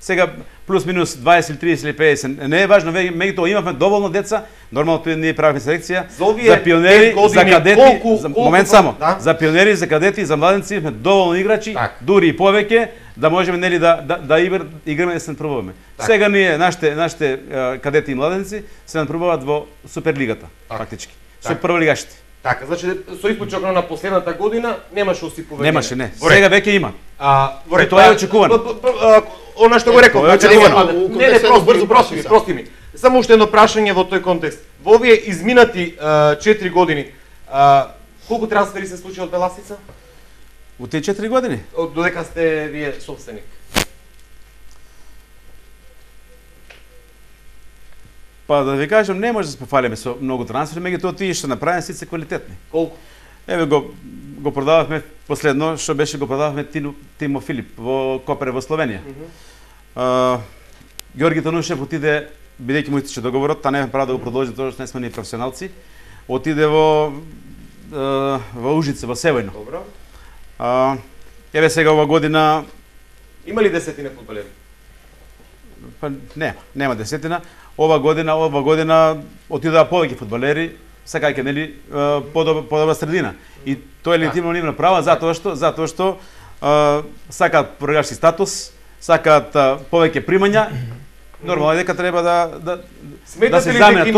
сега плюс минус 20 или 30 или 50, не е важно, меѓутоа имавме доволно деца, нормално ние правиме селекција за пионери, за кадети, момент само, за пионери, за кадети, за младенци имавме доволно играчи, дури и повеќе, да можеме нели да играме да се напробуваме. Сега ние нашите кадети и младенци се напробуваат во Суперлигата, фактички. Со прволигашите. Така, значи со испочок на последната година немаше осиповење. Немаше, не. Сега веќе има. Во ред, тоа е очекувано. Она што го реков, брзо, прости ми. Само уште едно прашање во тој контекст. Во овие изминати 4 години, колку трансфери се случи од Беласица? Во тие 4 години? Додека сте вие собственик. Па да ви кажам, не може да се пофалиме со многу трансфери, меѓутоа тие што направени сите квалитетни. Колку? Еве го продававме последно, што беше го продававме Тимо Филип во Копере во Словенија. Георги Танушев отиде, бидејќи му истече договорот, та нема право да го продолжи тоа што не сме ни професионалци, отиде во Ужице, во Севојно. Добро. Еве сега ова година има ли десетина фудбалери? Па нема десетина. Ова година отидоа повеќе фудбалери, сакајќи нели подобра средина. И тоа е легитимно нивна права затоа што сакаат програшки статус, сакаат повеќе примања. Нормално дека треба да се заменат.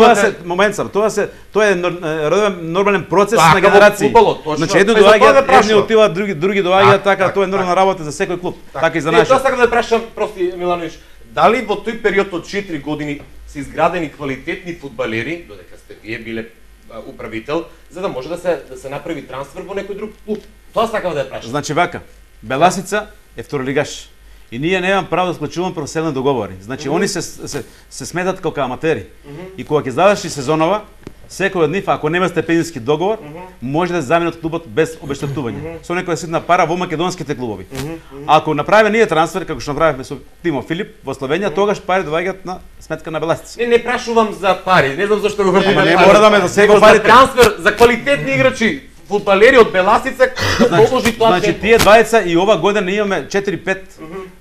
Тоа е нормален процес на генерации. Значи едни доаѓаат, едни отиваат, други доаѓаат, така тоа е нормална работа за секој клуб. Така и за нашиот. Тоа сакам да прашам, прости Милановиќ, дали во тој период од 4 години се изградени квалитетни фудбалери, додека сте вие биле управител, за да може да се направи трансфер во некој друг клуб? Тоа сакам да ја прашам. Значи вака, Беласица е второлигаш. И ние немам право да склучуваме професионални договори. Значи они се сметат како аматери. И кога ќе заврши сезонова, секој од нив, ако нема степенински договор, може да се замени од клубот без обештетување. Со некоја ситна пара во македонските клубови. Ако направиме ние трансфер како што направивме со Тимо Филип во Словенија, тогаш пари доаѓаат на сметка на Беласица. Не прашувам за пари, не знам зашто го вртиме. Не мора да ме засега парите. Трансфер за квалитетни играчи, фудбалери од Беласица, да положи тоа. Значи тие двајца и ова година имаме 4-5.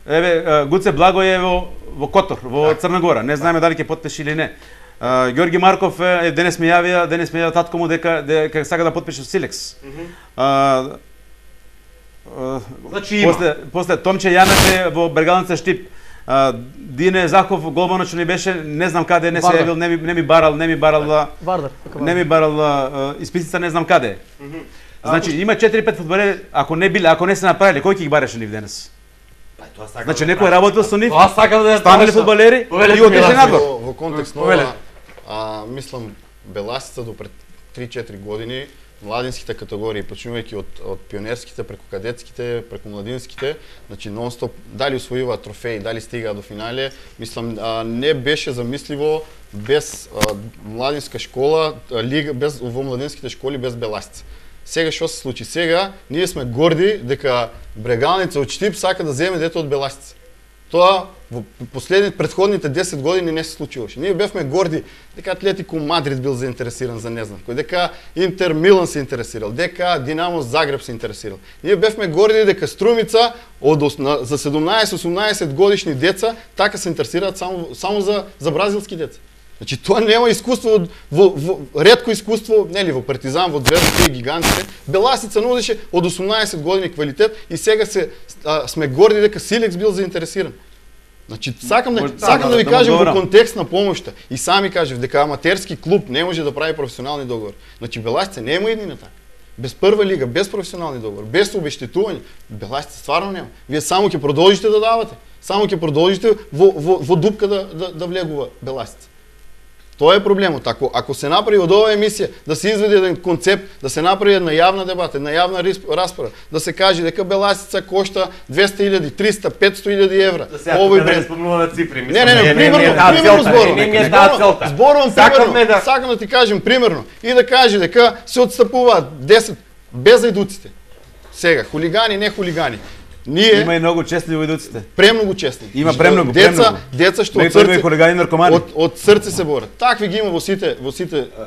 Еве Гуце Благо е во Котор, во Црна Гора. Не знаеме дали ќе потпише или не. Ѓорги Марков денес ми јавија татко му дека сака да потпише со Силекс. Значи има. После Томче Јанев во Бергалница Штип. Дине Захов голманот што ни беше, не знам каде, не се јавил, не ми барал исписица, не знам каде. Значи има 4-5 фудбалери, ако не се направиле, кој ќе ги бараше нив денес? Значи некој работел со нив, станале фудбалери и отише надвор. Во контекст мислам Беласица до пред 3-4 години младинските категории, почнувајќи од пионерските, преку кадетските, преку младинските, значи нон-стоп, дали усвојуваат трофеи, дали стигаат до финале, мислам не беше замисливо без младинска школа, лига во младинските школи без Беласица. Сега што се случи? Сега ние сме горди дека Брегалница од Штип сака да земе дете од Беласица. Тоа во претходните 10 години не се случуваше. Ние бевме горди дека Атлетико Мадрид бил заинтересиран за не знам кој, дека Интер Милан се интересирал, дека Динамо Загреб се интересирал. Ние бевме горди дека Струмица за 17-18 годишни деца така се интересираат само за бразилски деца. Значи тоа нема искуство во ретко искуство, нели во Партизан, во Звезда, тие гигантите. Беласица нудеше од 18 години квалитет и сега сме горди дека Силекс бил заинтересиран. Значи сакам да ви кажам во контекст на помошта и сами кажав дека аматерски клуб не може да прави професионални договори. Значи Беласица нема иднина така. Без прва лига, без професионални договори, без обештетување, Беласица стварно нема. Вие само ќе продолжите да давате, само ќе продолжите во дупка да влегува Беласица. Тоа е проблемот. Ако се направи од оваа емисија да се изведе еден концепт, да се направи една јавна дебата, една јавна расправа, да се каже дека Беласица кошта 200.000, 300, 500.000 евра. Овој бренд спомнува цифри. Не, примерно зборувам. Сакам да ти кажем примерно и да каже дека се отстапуваат 10 без ајдуците. Сега хулигани, не хулигани. Има и многу честни војдуците. Премногу честни. Има премногу. Деца што од срце хулигани наркомани. Од срце се борат. Такви ги има во сите.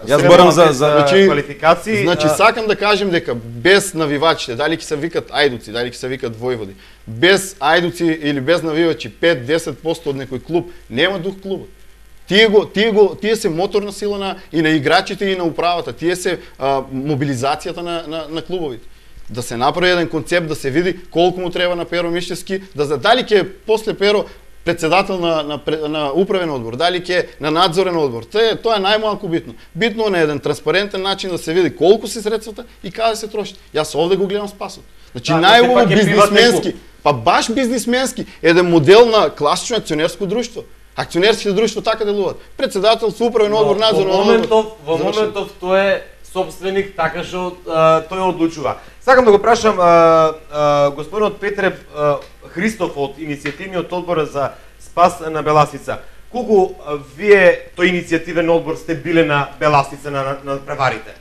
Јас зборам за квалификации. Значи сакам да кажем дека без навивачите, дали ќе се викат ајдуци, дали ќе се викат војводи, без ајдуци или без навивачи 5-10% од некој клуб нема дух клубот. Тие се моторна сила и на играчите и на управата. Тие се мобилизацијата на клубовите. Да се направи еден концепт, да се види колку му треба на Перо Мишевски, да дали ќе после Перо председател на управен одбор, дали ќе на надзорен одбор. Тоа е најмалку битно. Битно на еден транспарентен начин да се види колку се средствата и каде се трошат. Јас овде го гледам спасот. Значи најубаво бизнисменски, па баш бизнисменски, еден модел на класично акционерско друштво. Акционерските друштва така делуваат. Председател, управен одбор, надзорен одбор. Во моментов тој е собственик, така што тој одлучува. Сакам да го прашам господинот Петре Христов од иницијативниот одбор за спас на Беласица. Колку вие тој иницијативен одбор сте биле на Беласица на преварите?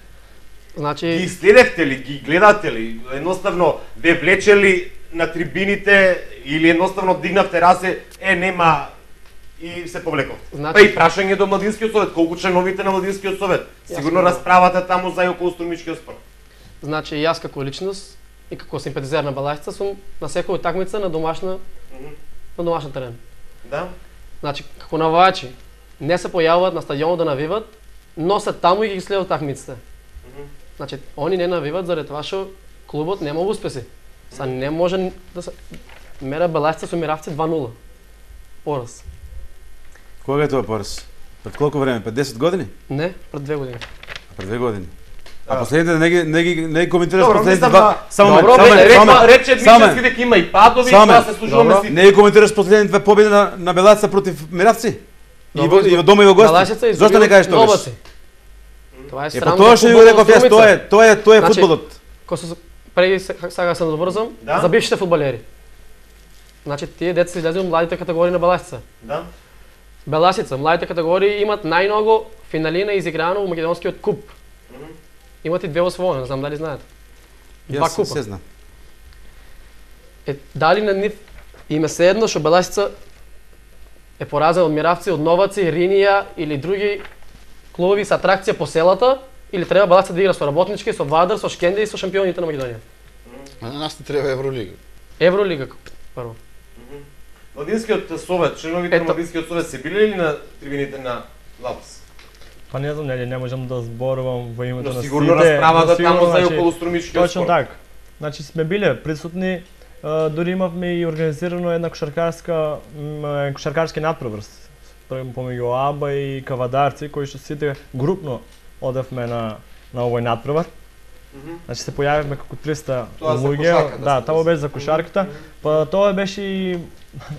Значи Ги следевте ли, ги гледате ли? Едноставно ве влечели на трибините или едноставно дигнавте расе, нема и се повлековте. Значи, Па и прашање до Младинскиот совет, колку членовите на Младинскиот совет? Сигурно расправата таму за и околу Струмичкиот спорт. Значи јас како личност и како симпатизер на Беласица сум на секоја утакмица на домашен терен. Да? Значи како навивачи не се појавуваат на стадионот да навиват, но се таму и ги следат утакмиците. Значи они не навиват заради тоа што клубот нема успеси. Са не може да се мера Беласица со Миравци 2-0. Пораз. Кога е тоа пораз? Пред колку време? Пред 10 години? Не, пред 2 години. Пред 2 години. А последните не коментираш Добро, последните мислам, два. Само Добро, рече Мишевски дека има и падови, тоа се служуваме сите. Не коментираш последните две победи на Беласица против Миравци. И во дома и во гости. Зошто не кажеш тоа? Тоа е Па срамно. тоа што ви го реков јас, тоа е фудбалот. Преди сега се добрзам за бившите фудбалери. Значи тие деца се излезли од младите категории на Беласица. Да. Беласица, младите категории имат најмногу финалина изиграно во македонскиот куп. Имат и 2 освоени, не знам дали знаете. 2 Јас купа. се знам. Дали на нив им е седно што Беласица е поразена од Миравци, од Новаци, Ринија или други клубови со атракција по селата, или треба Беласица да игра со Работнички, со Вадар, со Шкенде и со шампионите на Македонија? На нас не треба Евролига. Евролига прво. Младинскиот совет, членовите на Младинскиот совет се биле ли на трибините на Лапс? Па не знам, не можам да зборувам во името на сите. Сигурно расправата таму за и значи, околу Струмичкиот точно спорт. така. Значи сме биле присутни, дури имавме и организирано една кошаркарски надпреврс помеѓу АБА и Кавадарци, кои што сите групно одевме на овој надпревар. Значи се појавивме како 300 луѓе. Да, тоа беше за кошарката. Па тоа беше и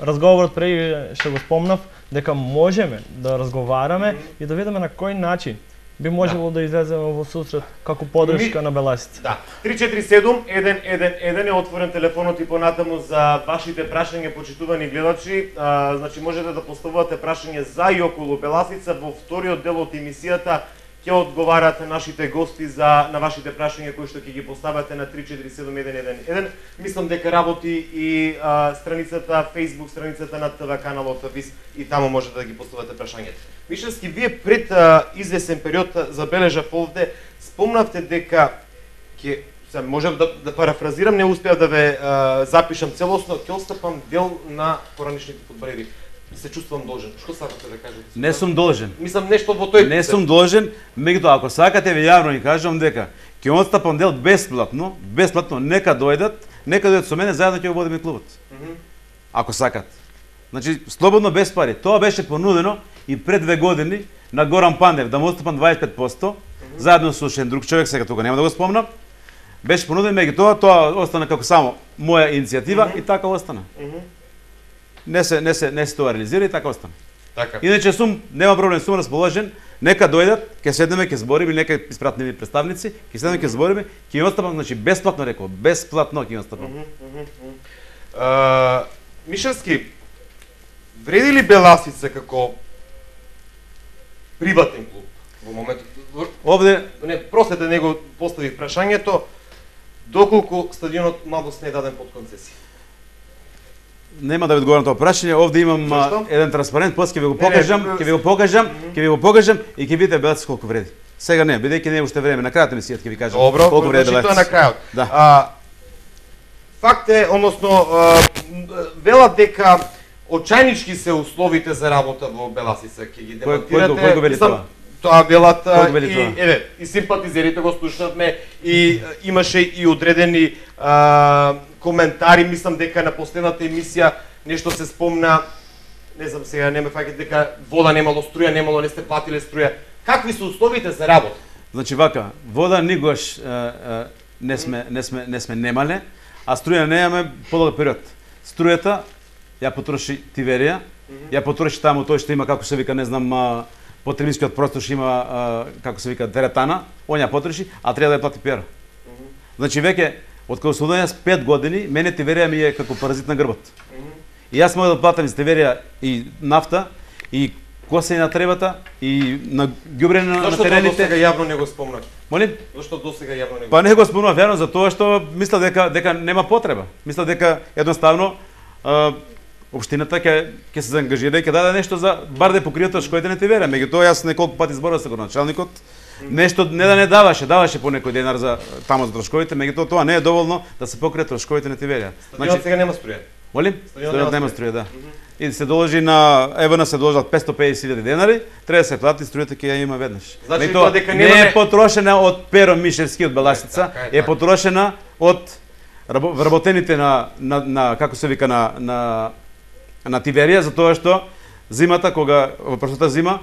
разговорот преди што го спомнав, дека можеме да разговараме и да видиме на кој начин би можело да излеземе во сусрет како подршка на Беласица. Да. 347-111 е отворен телефонот и понатаму за вашите прашања, почитувани гледачи. Значи можете да поставувате прашање за и околу Беласица. Во вториот дел од емисијата ќе одговарат нашите гости на вашите прашања кои што ќе ги поставате на 347-111. Мислам дека работи и страницата, Facebook страницата на ТВ каналот ВИС и таму можете да ги поставате прашањата. Мишевски, вие пред извесен период забележав овде, спомнавте дека можев да парафразирам, не успеав да ве запишам целосно, ќе отстапам дел на поранишните фудбалери. Се чувствувам должен. Што сакате да кажете? Не сум должен. Мислам нешто во тој. Не сум должен, меѓутоа ако сакате ви јавно и кажам дека ќе отстапам дел бесплатно, нека дојдат со мене заедно ќе го водиме клубот. Ако сакат. Значи слободно без пари. Тоа беше понудено и пред 2 години на Горан Пандев да му отстапам 25%, заедно со уште друг човек, сега тука нема да го спомнам. Беше понудено, меѓутоа тоа остана како само моја иницијатива и така остана. Не се тоа реализира и така остана. Така. Иначе нема проблем, сум расположен, нека дојдат, ќе седнеме, ќе збориме, нека испратиме представници, ќе седнеме, ќе збориме, ќе им отстапам, значи бесплатно реков, бесплатно ќе им отстапам. Мишевски, вреди ли Беласица како приватен клуб во моментот? Овде Простете, него поставих прашањето, доколку стадионот Младост не е даден под концесија? Нема да ви одговорам тоа прашање, овде имам еден транспарент, после ќе ви го покажам и ќе видите Беласица колку вреди. Сега не, бидејќи не е уште време, на крајот на емисијата ќе ви кажам колку вреди Беласица. Добро, тоа на крајот. Да. Факт е, односно, велат дека очајнички се условите за работа во Беласица, ќе ги демонтирате. Кој го вели тоа? Тоа велат Колку вели тоа? и еве, и симпатизерите го слушнавме и имаше и одредени коментари, мислам дека на последната емисија нешто се спомна, не знам сега, не ме фаќате дека вода немало, струја немало, не сте платиле струја. Какви се условите за работа? Значи вака, вода никогаш не сме немале, а струја немаме подолг период. Струјата ја потроши Тиверија, ја потроши таму тој што има, како се вика, не знам, потребискиот простор што има, како се вика, теретана, он ја потроши, а треба да ја плати Пера. Значи веќе од кога сум дојас 5 години, мене Тиверија ми е како паразит на грбот. И јас мога да платам из Тиверија и нафта, и косење на требата, и на ѓубрење на терените. Зошто досега јавно не го спомнав? Молим? Зошто досега јавно не го? Па не го спомнав јавно за тоа што мислам дека нема потреба. Мислам дека едноставно општината ќе се заангажира и ќе даде нешто за бар да покрие трошковите на Тиверија. Меѓутоа јас неколку пати зборував со градоначалникот, нешто не да не даваше по некој денар за таму за трошковите, меѓутоа тоа не е доволно да се покрие трошковите на Тиверија. Значи сега нема струја. Молим? Стадионот нема струја, да. И се доложи на ЕВН се доложат 550.000 денари, треба да се плати, струјата ќе ја има веднаш. Значи тоа дека не е потрошена од Перо Мишевски од Беласица, е потрошена од вработените на како се вика на Тиверија, затоа што зимата кога во прошлата зима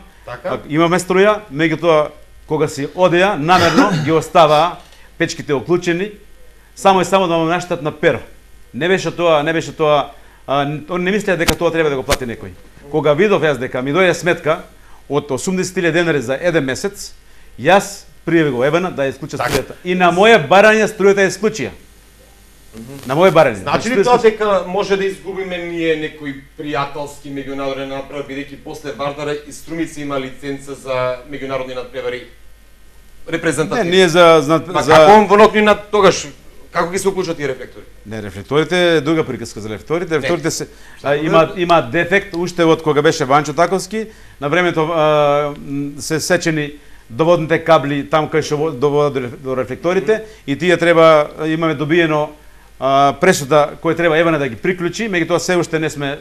имаме струја, меѓутоа кога си одеа намерно ги оставаа печките оклучени само и само да му наштат на Перо. Не беше тоа, он не мислеа дека тоа треба да го плати некој. Кога видов јас дека ми дојде сметка од 80.000 денари за еден месец, јас пријави го ЕВН да ја исклучи струјата. И на моје барање струјата ја исклучија. На моје барање. Значи ли тоа дека може да изгубиме ние некој пријателски меѓународен надпревар, бидејќи после Вардара и Струмица има лиценца за меѓународни надпревари репрезентативни? Не, ние за како во Нокнина тогаш како ги се уклучат тие рефлектори? Не, рефлекторите е друга приказка за рефлекторите. Рефлекторите се има дефект уште од кога беше Ванчо Таковски, на времето се сечени доводните кабли там кај што доводат до рефлекторите и тие треба имаме добиено пресуда кој треба ЕВН да ги приклучи, меѓутоа се уште не сме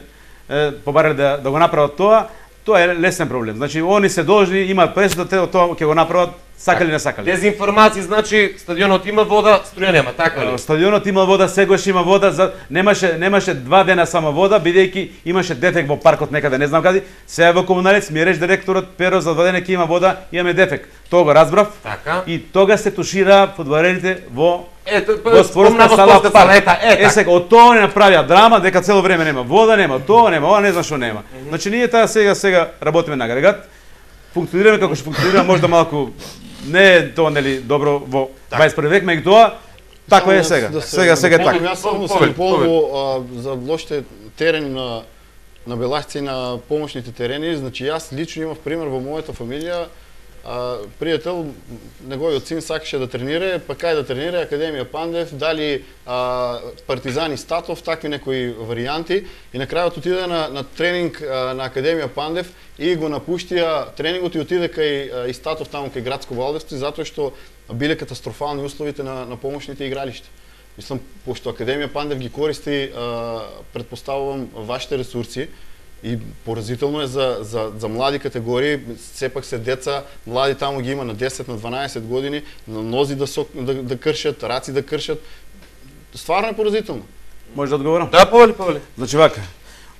побарали да го направат тоа. Тоа е лесен проблем. Значи они се должни, имаат пресуда, тоа ќе го направат сакали не сакали. Дезинформација значи стадионот има вода, струја нема, така ли? Стадионот има вода, сегош има вода, немаше 2 дена само вода, бидејќи имаше дефект во паркот некаде, не знам каде. Сега во Комуналец ми рече директорот Перо за 2 дена ќе има вода, имаме дефект. Тоа го разбрав. Така. И тога се тушира фудбалерите во спомна сала. Сега од тоа не направија драма дека цело време нема вода, нема тоа, нема ова, не знам што нема. Значи ние таа сега работиме на агрегат. Функционираме како што функционира, можда малку не е тоа нели добро во 21 век, меѓутоа така е сега. Сега е така. Јас само се полго за лошите терени на Беласица и на помошните терени, значи јас лично имав пример во мојата фамилија. Пријател, неговиот син сакаше да тренира, па кај да тренира Академија Пандев, дали Партизани Статов, такви некои варијанти и на крајот отиде на тренинг на Академија Пандев и го напуштија тренингот и отиде кај Статов таму кај градско балдевство затоа што биле катастрофални условите на помошните игралишта. Мислам, пошто Академија Пандев ги користи, претпоставувам, вашите ресурси, и поразително е за млади категории, сепак се деца, млади таму ги има на 10, на 12 години, на нози да кршат, раци да кршат. Стварно е поразително. Може да одговорам? Да, повели. Значи вака,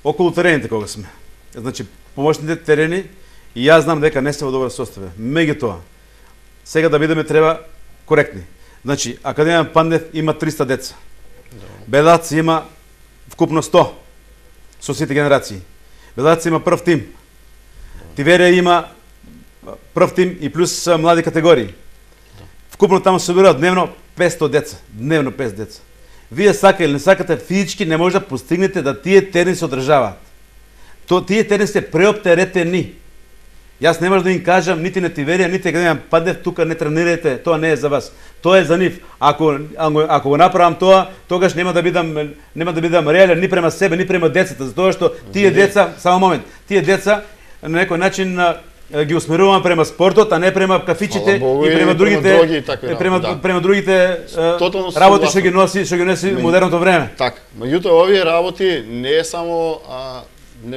околу терените кога сме. Значи помошните терени и јас знам дека не се во добро состојба. Меѓутоа, сега да бидеме треба коректни. Значи Академија Пандев има 300 деца. Белац има вкупно 100 со сите генерации. Белац има прв тим. Тиверија има прв тим и плюс млади категории. Вкупно таму се собираат дневно 500 деца. Дневно 500 деца. Вие сака или не сакате, физички не може да постигнете да тие терени се одржаваат. Тие терени се преоптеретени. Јас не може да им кажам нити на Тиверија, нити Академија Пандев, тука не тренирате, тоа не е за вас. Тоа е за нив. Ако го направам тоа, тогаш нема да бидам реален ни према себе, ни према децата, затоа што тие деца, само момент, тие деца на некој начин ги усмеруваме према спортот, а не према кафичите и према другите работи што ги носи модерното време. Така. Меѓутоа овие работи не е само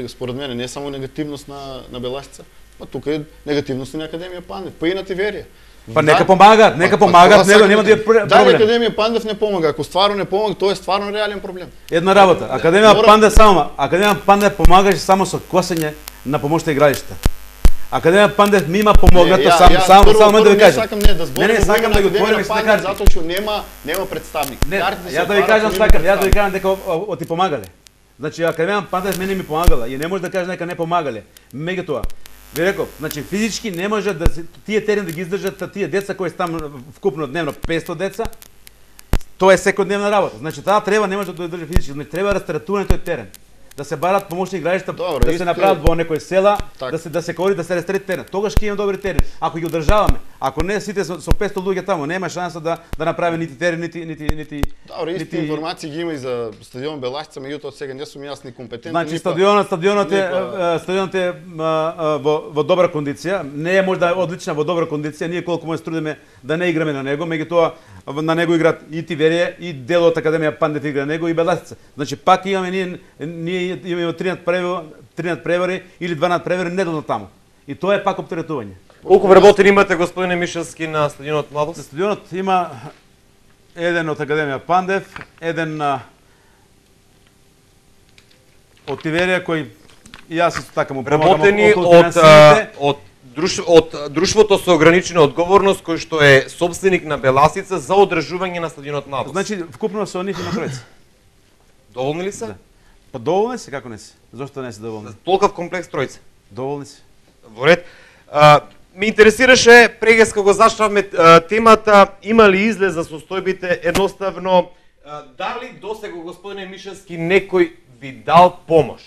според мене не е само негативност на Беласица. Па тука е негативност на Академија Пандев, па и на Тиверија. Па нека помагаат, него нема да е проблем. Дали Академија Пандев не помага, ако стварно не помага, тоа е стварно реален проблем. Една работа, Академија Пандев помагаше само со косење на помошни игралишта. Академија Пандев ми има помогнато само да ви кажам. Не сакам да го отворим и карти. Затоа што нема представник. Јас да ви кажам дека оти помагале. Значи Академија Пандев мене ми помагала и не може да каже нека не помагале. Меѓутоа, ви реков, значи физички не може да тие терени да ги издржат тие деца кои се таму вкупно дневно 500 деца. Тоа е секојдневна работа. Значи таа треба не може да држи физички, значи треба растаратување тој терен. Да се барат помошни игралишта, да се направат во некои села, да се кори да се растрети терен. Тогаш ќе имаме добри терени. Ако ги одржаваме, ако не сите со 500 луѓе таму, нема шанса да направи нити терен, нити Добро, исти информации ги има и за стадион Беласица, меѓутоа сега не сум јас ни компетентен. Значи стадионот е во добра кондиција, не е можда одлична во добра кондиција, ние колку може трудиме да не играме на него, меѓутоа на него играат и Тиверија и дел од Академија Пандев игра на него и Беласица. Значи пак имаме ние имаме 13 превари или 12 превари неделно таму. И тоа е пак оптеретување. Колку вработени имате, господине Мишевски, на стадионот Младост? На стадионот има еден од Академија Пандев, еден од Тиверија кој и јас исто така му помагам. Вработени од друштвото со ограничена одговорност кој што е собственик на Беласица за одржување на стадионот Младост. Значи вкупно со нив има тројца. Доволни ли се? Да. Па доволни се, како не се? Зошто не се доволни? Толков комплекс тројца. Доволни се. Во ред. Ме интересираше прегес кога зачнавме темата, има ли излез за состојбите, едноставно дали досега господине Мишевски некој ви дал помош?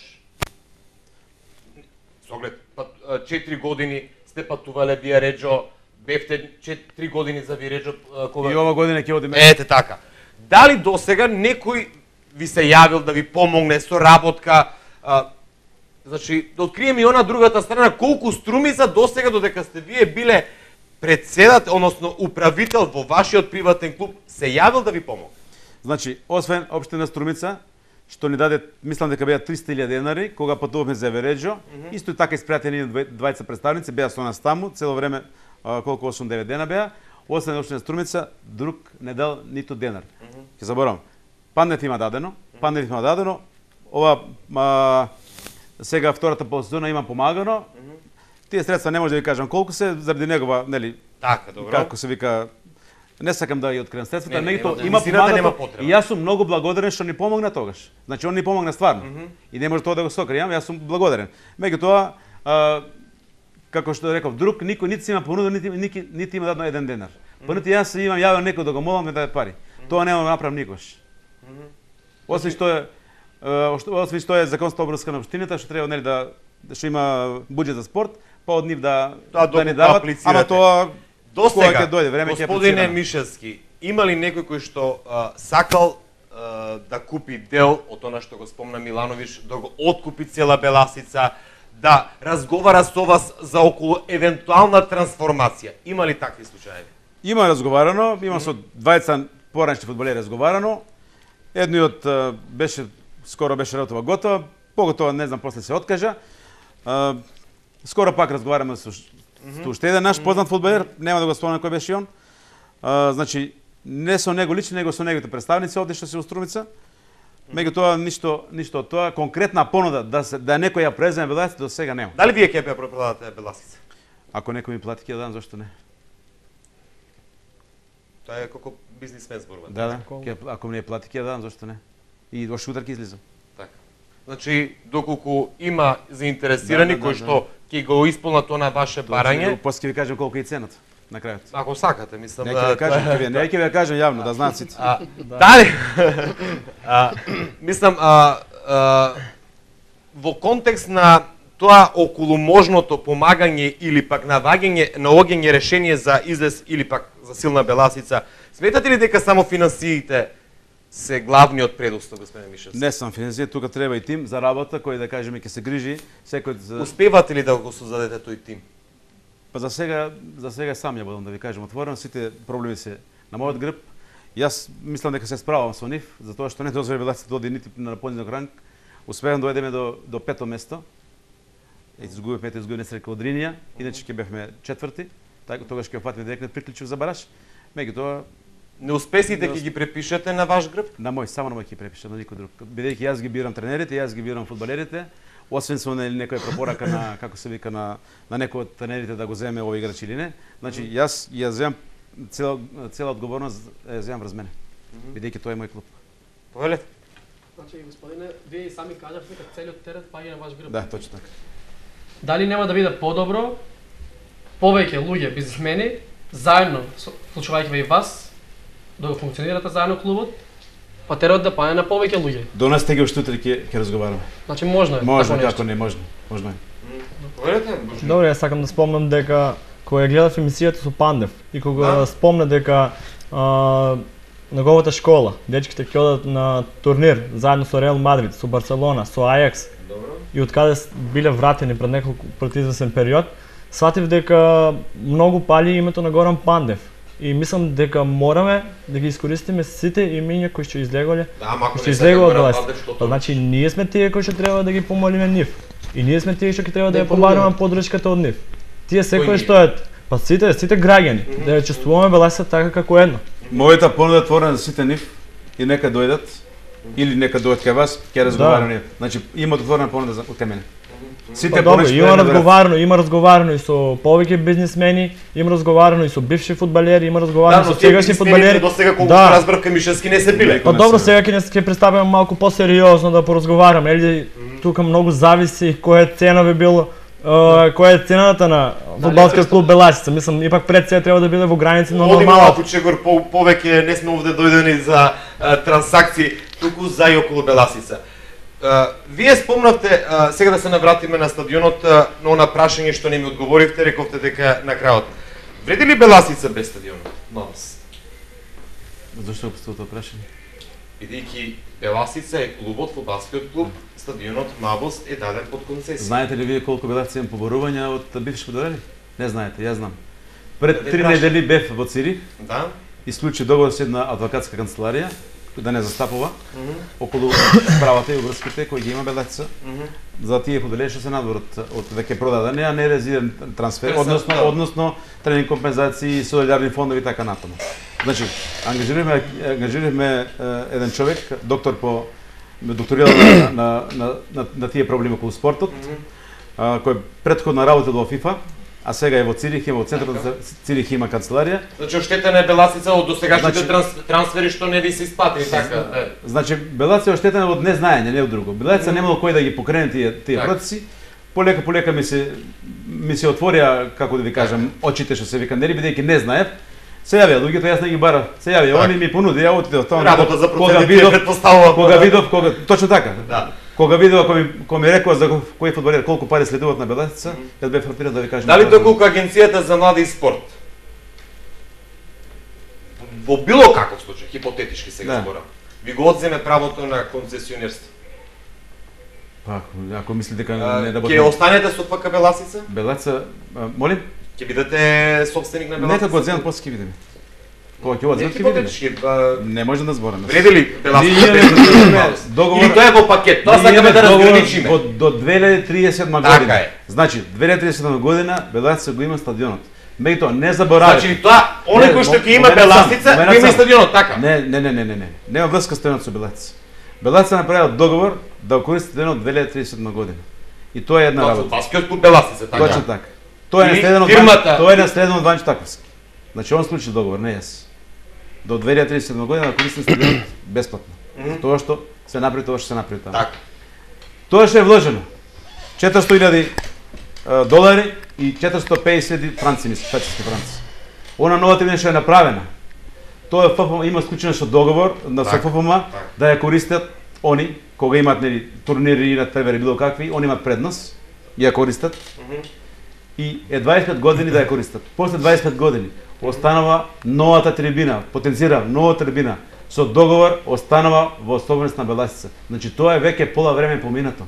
Со оглед 4 години сте патувале Виареџо, бевте 4 години за Виареџо кога И ова година ќе одиме. Ете така. Дали досега некој ви се јавил да ви помогне со работка? Значи, да откриеме и она другата страна, колку Струмица досега додека сте вие биле председател, односно управител во вашиот приватен клуб, се јавил да ви помогне? Значи, освен општина Струмица, што ни даде, мислам дека беа 300.000 денари, кога патувавме за Виареџо, исто и така испратени двајца представници, беа со нас таму, цело време, колку 8-9 дена беа, освен општина Струмица, друг не дал ниту денар. Ќе заборавам. Пандев има дадено, ова сега втората полсезона има помагано. Тие средства не може да ви кажам колку се заради негова, нели? Така, добро. Како се вика, не сакам да ја откриам средствата, меѓутоа има помагано и јас сум многу благодарен што ни помогна тогаш. Значи он ни помогна стварно. И не може тоа да го сокријам, јас сум благодарен. Меѓутоа како што реков, друг никој нити има понудил, нити има дадено еден денар. Па нити јас имам јавил некој да го молам да даде пари. Тоа нема да направам никош. Освен што е законска обврска на општината, што треба нели што има буџет за спорт, па од нив да ни дават, ама тоа кога ќе дојде време ќе Господине Мишевски, има ли некој кој што сакал да купи дел од она што го спомна Милановиќ, да го откупи цела Беласица, да разговара со вас за околу евентуална трансформација? Има ли такви случаи? Има разговарано, има со двајца поранешни фудбалери разговарано. Едниот скоро беше работова готова, поготоа не знам после се откажа. Скоро пак разговараме со уште еден наш познат фудбалер, нема да го спомнам кој беше он. Значи не со него лично, него со неговите представници овде што се Струмица. Меѓутоа ништо од тоа, конкретна понуда да некој ја преземе Беласица до сега нема. Дали вие ќе ја продадете Беласица? Ако некој ми плати ќе ја дам, зошто не? Тоа е како бизнисмен зборува. Да, ако ми не плати ќе ја дам, зошто не? И во шутар ќе излизам. Така. Значи, доколку има заинтересирани кои што ќе го исполнат она ваше барање, после ќе ви кажам колку е цената на крајот. Ако сакате, мислам не ќе ви кажам, не ќе ви кажам јавно да знаат сите. Дали? Мислам во контекст на тоа околу можното помагање или пак наоѓање решение за излез или пак за силна Беласица, сметате ли дека само финансиите се главниот предуслов, господине Мишевски? Не сам финансије, тука треба и тим за работа кој да кажеме ќе се грижи секој за... Успевате ли да го создадете тој тим? Па за сега сам ја будам да ви кажам отворено, сите проблеми се на мојот грб. Јас мислам дека се справам со нив, затоа што не дозволи Беласица да оди нити на понизок ранг. Успеам да дојдеме до пето место. изгубивме несреќа од Ринија, иначе ќе бевме четврти, така тогаш ќе опатиме директно приклучив за бараж. Меѓутоа Неуспесите ќе ги препишете на ваш грб? само на мој ќе препишам, на никој друг. Бидејќи јас ги бирам тренерите, јас ги бирам фудбалерите, освен со некоја препорака на како се вика на некој од тренерите да го земе овој играч или не. Значи јас земам цела одговорност ја земам врз мене. Бидејќи тоа е мој клуб. Повелете. Значи, господине, вие и сами кажавте дека целиот терет паѓа на ваш грб. Да, точно така. Дали нема да биде подобро повеќе луѓе бизнисмени заедно, вклучувајќи и вас, да го функционирате заедно клубот, па терет да паѓа на повеќе луѓе? До нас тега уште утре ќе разговараме. Значи можно е. Можно, така како не, можно е. Повелете. Добро, јас сакам да спомнам дека кога ја гледав емисијата со Пандев и кога спомна дека неговата школа, дечките ќе одат на турнир заедно со Реал Мадрид, со Барселона, со Ајакс. Добро. И од каде биле вратени пред извесен период, сватив дека многу пали името на Горан Пандев. И мислам дека мораме да ги искористиме сите имиња кои што излеголе. Да, мако што излегува од власт. Значи ние сме тие кои што треба да ги помолиме нив. И ние сме тие што ќе треба да ја побаруваме поддршката од нив. Тие секој што е, па сите граѓани, да ја чувствуваме Беласица така како едно. Мојата понуда е отворена за сите нив и нека дојдат или нека дојдат кај вас, ќе разговараме. Значи има отворена понуда кај мене. Сите добро, има разговарано и со повеќе бизнисмени, има разговарано и со бивши фудбалери, има разговарано со сегашни фудбалери. До сега колку разбрав кај Мишевски не се биле. Па добро, сега ќе пристапиме малку посериозно да поразговараме, или тука многу зависи која цена би било, која е цената на фудбалскиот клуб Беласица. Мислам, ипак пред се треба да биде во граници на нормалното. Малку чегор повеќе не сме овде дојдени за трансакции, туку за и околу Беласица. Вие спомнавте, сега да се навратиме на стадионот, но на прашање што не ми одговоривте, рековте дека на крајот. Вреди ли Беласица без стадионот? Мамс. Зошто го тоа прашање? Бидејќи Беласица е клубот, фудбалскиот клуб, стадионот Мабос е даден под концесија. Знаете ли вие колку Беласица има поборувања од бивши фудбалери? Не знаете, јас знам. Пред 3 недели бев во Цирих. Да. И склучи договор со една адвокатска канцеларија да не застапува околу правата и обврските кои ги има Беласица за тие фудбалери што се надвор од веќе продадени, а не резиден трансфер, односно тренинг компензации, солидарни фондови и така натаму. Значи, ангажиравме еден човек, докторирал на тие проблеми околу спортот, кој претходно работел во ФИФА, а сега е во Цирих, во центарот за Цирих има канцеларија. Значи оштетена е Беласица од досегашните трансфери што не ви се исплатили, така? Значи Беласица е оштетена од незнаење, не од друго. Беласица немало кој да ги покрене тие процеси. Полека ми се отворија, како да ви кажам, очите што се вика, нели бидејќи не знаев. Се јавија луѓето, јас не ги барав. Се јавија, они ми понуди, ја отидов тоа. Работа за процедите предпоставува. Кога видов, точно така. Да. Кога видов кој ми рекоа за кој фудбалер колку пари следуваат на Беласица, јас бев фрапиран да ви кажам. Дали доколку Агенцијата за млади и спорт во било каков случај, хипотетички сега зборам, ви го одземе правото на концесионерство? Па, ако мислите дека не работи. Ќе останете со ФК Беласица? Беласица, молим? Ќе бидете собственик на Беласица? Нека го одземат, после ќе видиме. Кога ќе одземат ќе видиме. Не може да збораме. Вреди ли Беласица без договор? Или тоа е во пакет? Тоа сакаме да разграничиме. До 2037 година. Значи, 2037 година Беласица го има стадионот. Меѓутоа не заборавајте. Значи тоа, оној кој што ќе има Беласица, го има и стадионот, така? Не. Нема врска стадионот со Беласица. Беласица направила договор да користи стадионот 2037 година. И тоа е една работа. Фудбалскиот клуб Беласица, така? Точно така. Тоа е наследено од Ванчо Таковски. Значи он склучи договор, не јас. До 2037 година да користи стадионот бесплатно. Тоа што се направи таму. Така. Тоа што е вложено 400.000 долари и 450.000 франци, швајцарски франци. Она нова трибина што е направена, тоа ФФМ има склучено со договор на ФФМ да ја користат они кога имаат турнири на ТВР било какви, они имаат предност и ја користат. И 25 години да ја користат. После 25 години останува новата трибина, потенцира нова трибина со договор останува во собственост на Беласица. Значи тоа е веќе пола време поминато.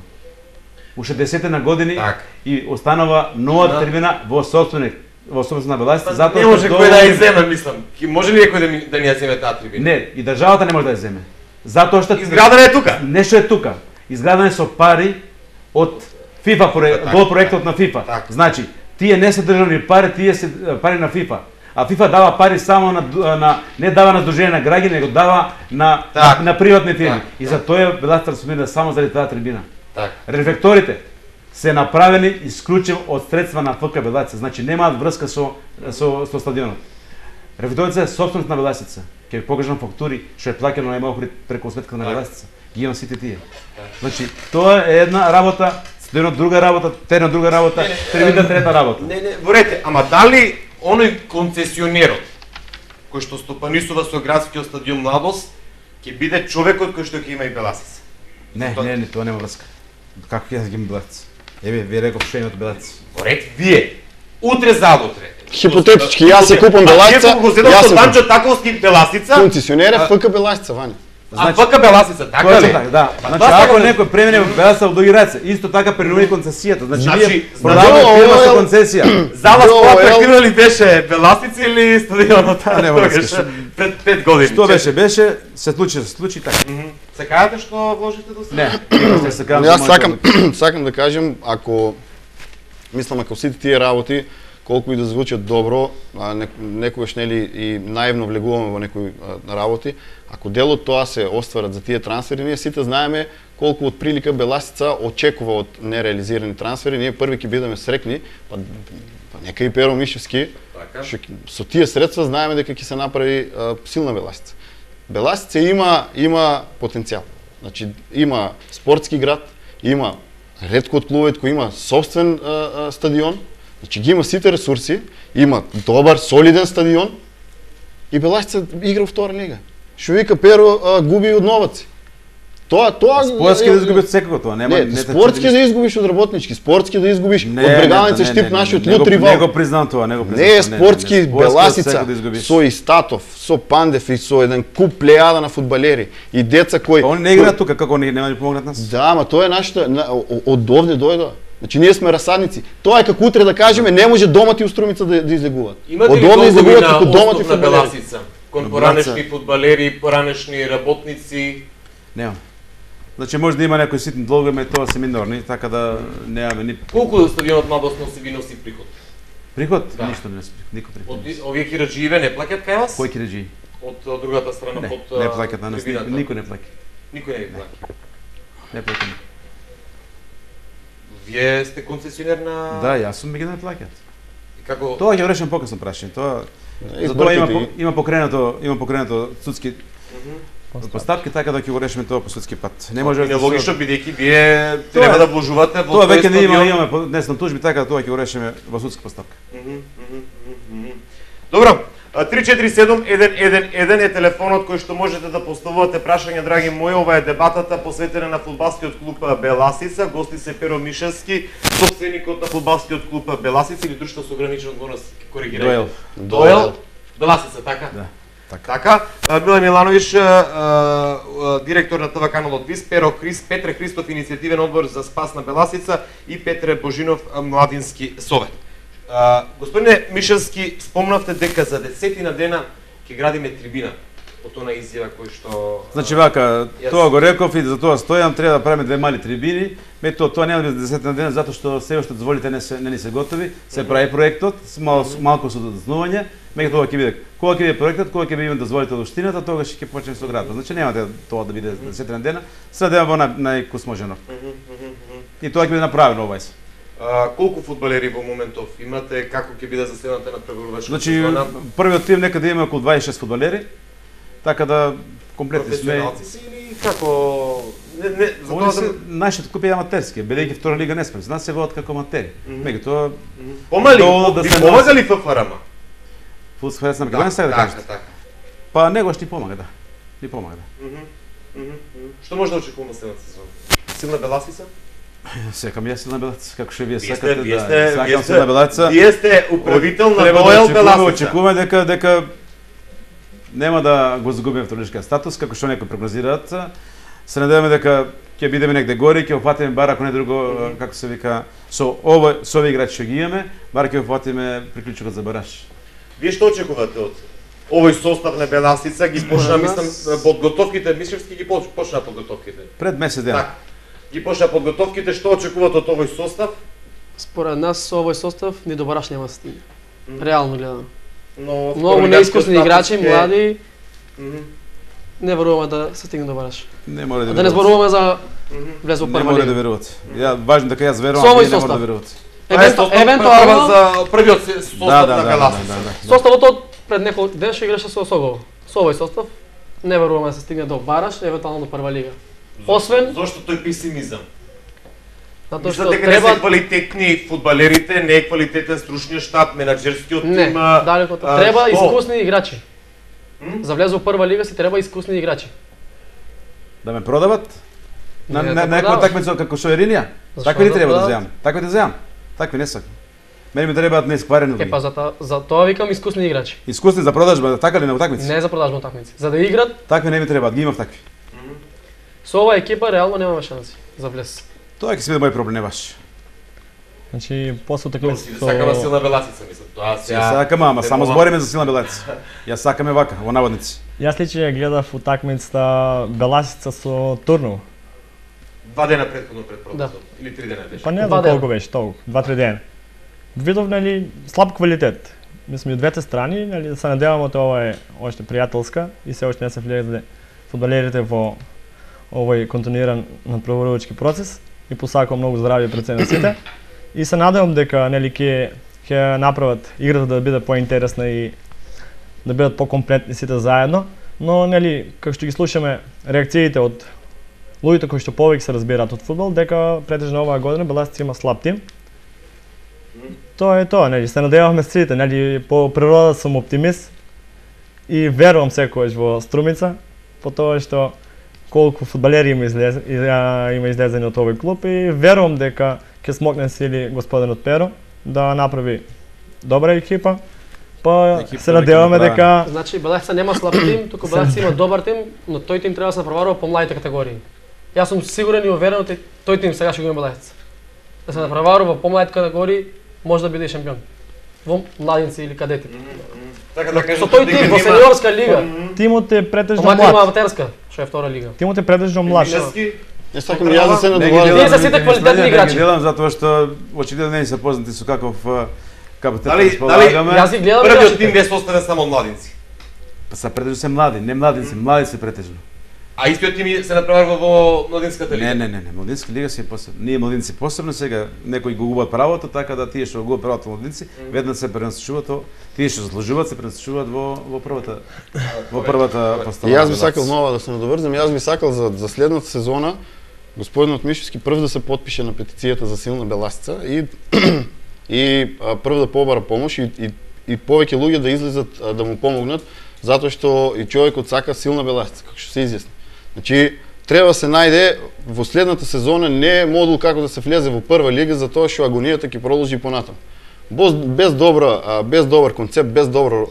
Уште 10 на години и останува нова трибина во собственост на Беласица, затоа не може кој да ја земе, мислам. Може ли некој да ни ја земе таа трибина? Не, и државата не може да ја земе. Затоа што изградена е тука. Нешто е тука. Изградена е со пари од FIFA гол проектот на FIFA. Така. Значи, тие не се државни пари, тие се пари на FIFA. А FIFA дава пари само не дава на здружение на граѓани, него дава на приватни фирми. И за тоа била трансформирана само заради таа трибина. Така. Рефлекторите се направени исклучиво од средства на ФК Беласица, значи немаат врска со стадионот. Рефлекторите се собственост на Беласица. Ќе ви покажам фактури што е плаќано најмалку преку сметката на Беласица. Ги имам сите тие. Значи тоа е една работа, стадионот друга работа, теренот друга работа, трибина трета работа. Не, ворете, ама дали оној концесионерот кој што стопанисува со градскиот стадион Младост ќе биде човекот кој што ќе има и Беласица? Не, тоа нема врска. Како ќе ги има Беласица? Еве, ви реков што имате Беласица. Ворете, вие утре заутре. Хипотетички, јас се купам Беласица, јас се Данчо Таковски Беласица. Концесионер е ФК Беласица, Ваня. А ФК Беласица, така ли? Да. Значи ако некој премине во Беласица во други раце, исто така премине концесијата. Значи вие продавате фирма со концесија. Зала по-атрактивна ли беше Беласица или стадионот? Нема врска. Пред 5 години. Што беше, се случи така. Се кажете што вложите до сега? Не, се кажам. Јас сакам да кажем, ако сите тие работи колку и да звучат добро, некогаш нели и наивно влегуваме во некои работи, ако дел од тоа се остварат за тие трансфери, ние сите знаеме колку од прилика Беласица очекува од нереализирани трансфери, ние први ќе бидеме срекни, па нека и Перо Мишевски, со тие средства знаеме дека ќе се направи силна Беласица. Беласица има потенцијал. Значи има спортски град, има ретко од клубовите кој има собствен стадион. Значи ги има сите ресурси, има добар, солиден стадион и Беласица игра во втора лига. Што вика Перо губи од новаци. Тоа спортски да изгубиш секако тоа, нема не спортски да изгубиш од работнички, спортски да изгубиш од Брегалница Штип нашиот лут ривал. Не го признавам тоа, Не е спортски Беласица со Истатов, со Пандев и со еден куп плејада на фудбалери и деца кои они не играат тука, како нема да помогнат нас. Да, ама тоа е нашата од овде дојдоа. Значи ние сме расадници. Тоа е како утре да кажеме не може домати у Струмица да излегуваат. Имате ли долгови на остов на Беласица? Кон поранешни фудбалери, поранешни работници? Нема. Значи може да има некои ситни долгови, но тоа се минорни, така да немаме ни. Колку стадионот Младост ви носи приход? Приход? Ништо не носи, никој приход. Овие кираџиеве не плаќаат кај вас? Кои кираџии? Од другата страна, од не плаќаат на нас, никој не плаќа. Никој не плаќа. Не плаќа. Вие сте концесионер на... Да, јас сум, ги не плаќаат. И како... Тоа ќе решам покасно прашање. Тоа затоа има покренато судски постапки, така да ќе го решиме тоа по судски пат. Не може да логично бидејќи вие треба да вложувате во тоа веќе не имаме днесно тужби, така да тоа ќе го решиме во судска постапка. Добро. 347-111 е телефонот кој што можете да поставувате прашања, драги мои. Ова е дебатата посветена на фудбалскиот клуб Беласица. Гости се Перо Мишевски, собственикот на фудбалскиот клуб Беласица или друштво со ограничена одговорност, коригирајте. Доел. Беласица, така? Да. Така. Миле Милановиќ, директор на ТВ каналот ВИС, Петре Христов, иницијативен одбор за спас на Беласица и Петре Божинов, младински совет. Господине Мишевски, спомнавте дека за 10 дена ќе градиме трибина. Од она изјава кој што... Значи вака, тоа го реков и за тоа стојам, треба да правиме две мали трибини. Тоа нема да биде 10 дена затоа што се уште дозволите не ни се готови. Се прави проектот, малку со доцнување. Меѓу тоа ќе биде кога ќе биде проектот, кога ќе биде дозволите од општината, тогаш ќе почнеме со градот. Значи нема тоа да биде 10 дена, следеме во најкусможено. И тоа ќе биде направено овајс. Колку фудбалери во моментов имате, како ќе биде заседната на преборувачката сезона? Значи првиот тим некаде има околу 26 фудбалери. Така да комплетни сме. Професионалци си или како нашите клуби е аматерски, бидејќи втора лига не сме. Нас се водат како аматери. Меѓутоа помали ви помагали ФФРМ? Фудбалерот на Македонија сега да кажете. Така. Па него што ни помага, да. Ни помага, да. Што може да очекуваме следната сезона? Силна Беласица? Секам јас силна Беласица, како што вие сакате, да. Сакам силна Беласица. Вие сте управител на Доел Беласица. Очекуваме дека нема да го загубиме второлишкиот статус, како што некои прогнозираат. Се надеваме дека ќе бидеме негде горе, ќе опфатиме бар ако не друго, како се вика, со овој играчи што ги имаме, бар ќе опфатиме приклучокот за бараж. Вие што очекувате од овој состав на Беласица? Ги почна, мислам, подготовките, Мишевски ги почна подготовките. Пред месец дена. Ги почна подготовките, што очекувате од овој состав? Според нас со овој состав ни до бараш нема да стигне. Реално гледано. Но Многу неискусни играчи, млади. Не веруваме да се стигне до бараш. Не може да Да не зборуваме за влез во Не прва може да лига. верувате. Ја важно дека јас верувам, Со овој вие не може да состав. верувате. Евентуално за првиот состав на Беласица. составот од пред неколку ден ще играше со Согол. Со овој состав не веруваме да се стигне до бараш, евентуално до прва лига. Освен Зошто тој песимизам? затоа Мислам што дека не се треба квалитетни фудбалерите, не е квалитетен стручниот штаб, менаџерскиот не, тим. далеко од тоа. Треба што? искусни играчи. За влез во прва лига си треба искусни играчи. Да ме продават? На Не, на да некоја продават. такмица како што е Ринија? Зашто Такви ли да треба да продават? земам? Такви да земам? Такви не сакам. Мене ми требаат неискварени Е луѓе. па за тоа викам искусни играчи. Искусни за продажба, така ли на утакмици? Не за продажба утакмици. За да играт Такви не ми требаат, ги имав такви. со оваа екипа реално немаме шанси за влез. Тоа ќе си биде мој проблем, не ваш. Значи, после Тоа утакмицата си сакаме силна Беласица, мислам. Тоа Ја сакам, ама не само мога- збориме за силна белаца. Ја сакаме вака, во наводници. Јас лично гледав утакмицата Беласица со Турнов. 2 дена претходно пред продажбата. Или 3 дена беше. Па не Два знам дена. колку беше, толку, 2-3 дена. Видов, нели, слаб квалитет. Мислам и од двете страни, нели, да се надеваме тоа ова е оште пријателска и се оште не се влезле фудбалерите во овој континуиран надпреварувачки процес и посакувам многу здравје пред се на сите. И се надевам дека нели ќе направат играта да биде поинтересна и да бидат покомплетни сите заедно, но нели како што ги слушаме реакциите од луѓето кои што повеќе се разбираат од фудбал, дека претежно оваа година Беласица има слаб тим. Тоа е тоа, нели, се надевавме сите, нели, по природа сум оптимист и верувам секогаш во Струмица, по тоа што колку фудбалери има излезени од овој клуб и верувам дека ќе смокне сили господинот Перо да направи добра екипа. Па Екипа се веќе надеваме направена. дека Значи Беласица нема слаб тим, туку Беласица има добар тим, но тој тим треба да се направува по младите категории. Јас сум сигурен и уверен дека тој тим сега ќе го има Беласица. Да се направува во помладите категории, може да биде и шампион. Во младинци или кадети. Така да Со тој тим во сениорска лига, тимот е претежно помладите има млад. аматерска, што е втора лига. Тимот е претежно млад. Мишевски, Не сакам и јас да се Не ги надоварам. делам, Тие се не сите ги квалитетни следам, играчи. Не ги делам затоа што очигледно не се познати со каков капацитет Дали- располагаме. Јас ги гледам првиот играчите. тим не составен само од младинци. Па се претежно се млади, не младици, млади се претежно. А истиот тим се натпреварува во младинската лига. Не, младинска лига си е посебно. Ние младинци посебно сега некои го губат правото, така да тие што го губат правото младинци, веднаш се пренасочуваат, тие што заслужуваат се пренасочуваат во првата И поставка. јас би сакал нова да се надоврзам, јас би сакал за следната сезона господинот Мишевски прв да се потпише на петицијата за силна Беласица и прв да побара помош и повеќе луѓе да излезат да му помогнат, затоа што и човекот сака силна Беласица, како што се изјасни. Значи, треба се најде во следната сезона не е модул како да се влезе во прва лига, затоа што агонијата ќе продолжи понатаму. Без добар концепт, без добро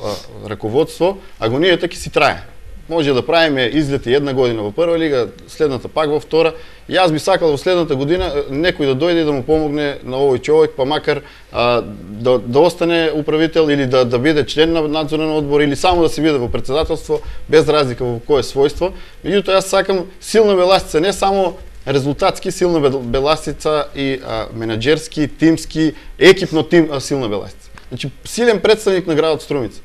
раководство, агонијата ќе си трае. Може да правиме излети една година во прва лига, следната пак во втора. Јас би сакал во следната година некој да дојде и да му помогне на овој човек, па макар да остане управител или да биде член на надзорен одбор или само да се биде во председателство, без разлика во кое својство. Меѓутоа јас сакам силна Беласица, не само резултатски силна Беласица и менаџерски, тимски, екипно силна Беласица. Значи силен представник на градот Струмица.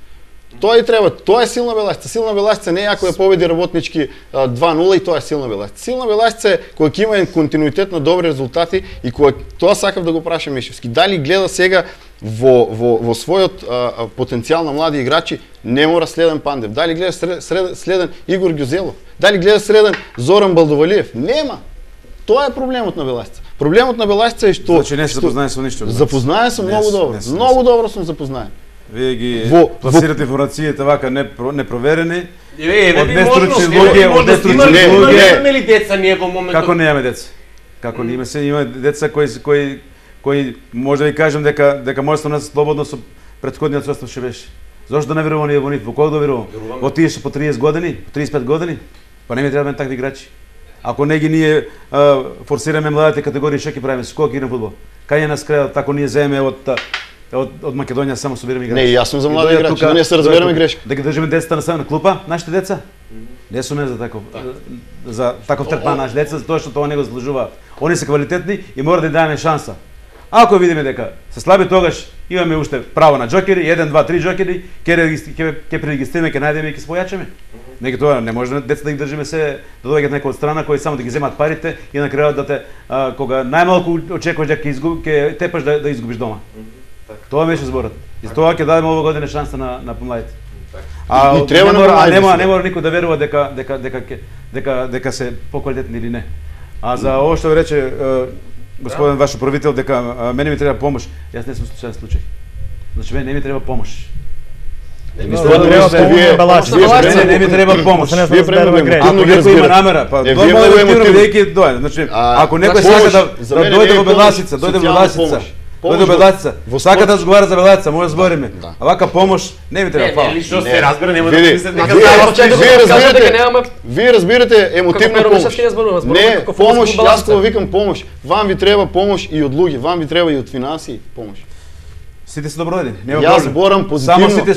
Тоа и треба, тоа е силна Беласица. Силна Беласица не е ако ја победи работнички 2-0 и тоа е силна Беласица. Силна Беласица е која ќе има континуитет на добри резултати и која тоа сакав да го прашам Мишевски. Дали гледа сега во својот потенцијал на млади играчи, не мора следен Пандев. Дали гледа следен Игор Ѓузелов? Дали гледа следен Зоран Балдовалиев? Нема. Тоа е проблемот на Беласица. Проблемот на Беласица е што Значи не се запознаен со ништо. Запознаен сум многу добро. Не Многу добро сум запознаен. Вие ги Во- пласирате информациите вака непроверени. Од нестручни луѓе, од нестручни луѓе. Имаме ли деца ние во моментот? Како немаме деца? Како не има деца кои може да ви кажам дека може да се слободно со претходниот состав што беше. Зошто да не верувам ние во нив? Во кого да верувам? Во тие што по 30 години, по 35 години? Па не ми треба такви играчи. Ако не ги ние форсираме младите категории, што ќе правиме? Со кого ќе играме фудбал? Кај е нас крајот, ако ние земеме од од Македонија само собираме играчи. Не, јас сум за млади играчи, да не се разбереме грешка. Да ги држиме децата на клупа, нашите деца. Не сме за таков третман наши деца, затоа што тоа не го заслужуваат. Они се квалитетни и мора да им дадеме шанса. Ако видиме дека се слаби, тогаш имаме уште право на џокери, 1, 2, 3 џокери, ќе пререгистрираме, ќе најдеме и ќе спојачаме. Тоа не може децата да ги држиме се да доаѓаат некој од страна кои само да ги земат парите и на крајот да те кога најмалку очекуваш дека ќе тепаш да изгубиш дома. Тоа беше зборот. И тоа ќе дадеме оваа година шанса на помладите. Не мора никој да верува дека се поквалитетни или не. А за ово што рече господин ваш управител дека мене ми треба помош, јас не сум случаен случај. Значи мене не ми треба помош. Не ми треба помош. Ако некој има намера, па значи ако некој сака да дојде во Беласица, дојде Беласица, сака да разговара за Беласица, може да збориме. А вака помош не ми треба, фала. Што се разбира, нема да мислите дека вие разбирате емотивна помош. Не, помош, јас кога викам помош, вам ви треба помош и од луѓе, вам ви треба и од финансии помош. Сите се добродени, нема проблем. Јас зборам позитивно. Само сите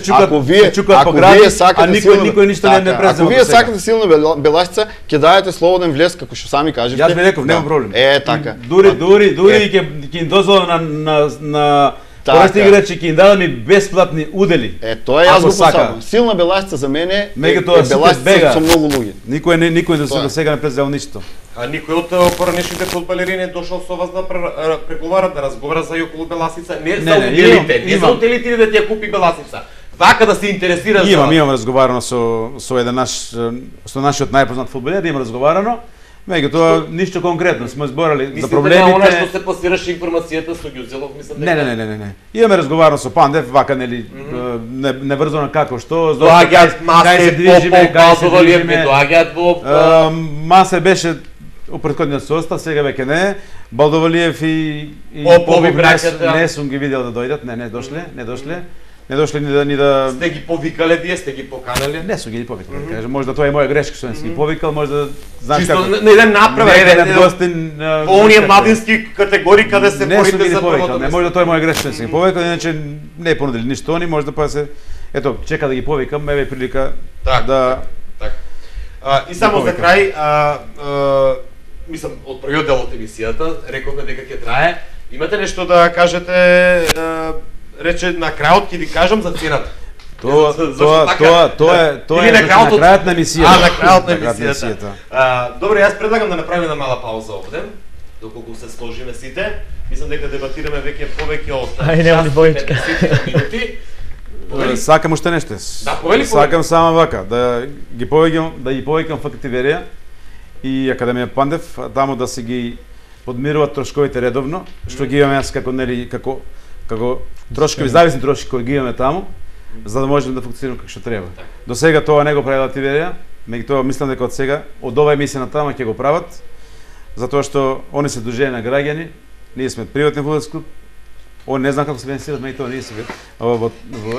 чукат по гради, а никој ништо не презема. Ако вие сакате силна Беласица, ќе дајете слободен влез како што сами кажете. Јас ви реков, нема проблем. Така. Дури ќе им дозволам на порасти играчи, ќе им дадам бесплатни удели. Тоа јас го посакувам. Силна Беласица за мене е Беласица со многу луѓе. Никој до сега не презел ништо. А никој од поранешните фудбалери не дошол со вас да преговара, да разговара за околу Беласица, не за уделите, не за уделите да ти купи Беласица. Вака да се интересира за... Имам разговарано со еден нашиот најпознат фудбалер, имам разговарано. Меѓутоа ништо конкретно, сме зборали за проблемите. Мислите она што се пласираше информацијата со Ѓузелов, мислам дека... Не. Имаме разговарано со Пандев, вака нели неврзано како што, доаѓаат Масе, Балдовалиев, доаѓаат во... Масе беше у претходниот состав, сега веќе не. Балдовалиев и Попови браќата не сум ги видел да дојдат, не дошле. Не дошле ни да... Сте ги повикале, вие сте ги поканали? Не сум ги повикале, да кажем. Може да тоа е моја грешка што не си ги повикал, може да знаеш како... Чисто на еден направа, еден гостин... По оние младински категории каде се борите за првото место. Не може да тоа е моја грешка што не си ги повикал, иначе не е понудили ништо они, може да па се... Ето, чека да ги повикам, еве прилика да... И само за крај, мислам, од првиот дел од емисијата, рековме дека ќе трае. Имате нешто да кажете, рече на крајот ќе ви кажам за цената. Тоа е на крајот на емисијата. На крајот на емисијата. Добре, јас предлагам да направиме една мала пауза овде, доколку се сложиме сите. Мислам дека дебатираме повеќе од 50 минути. Сакам уште нешто. Сакам само вака да ги повеќам фактиверија и Академија Пандев, таму да се ги подмируваат трошковите редовно, што ги имаме јас како трошкови, зависни трошки кои ги имаме таму, за да можеме да функционираме како што треба. До сега тоа не го прави Лативерија, меѓутоа мислам дека од сега, од оваа емисија натаму ќе го прават, затоа што они се дружени на граѓани, ние сме приватен фудбалски клуб, он не знам како се финансират, меѓутоа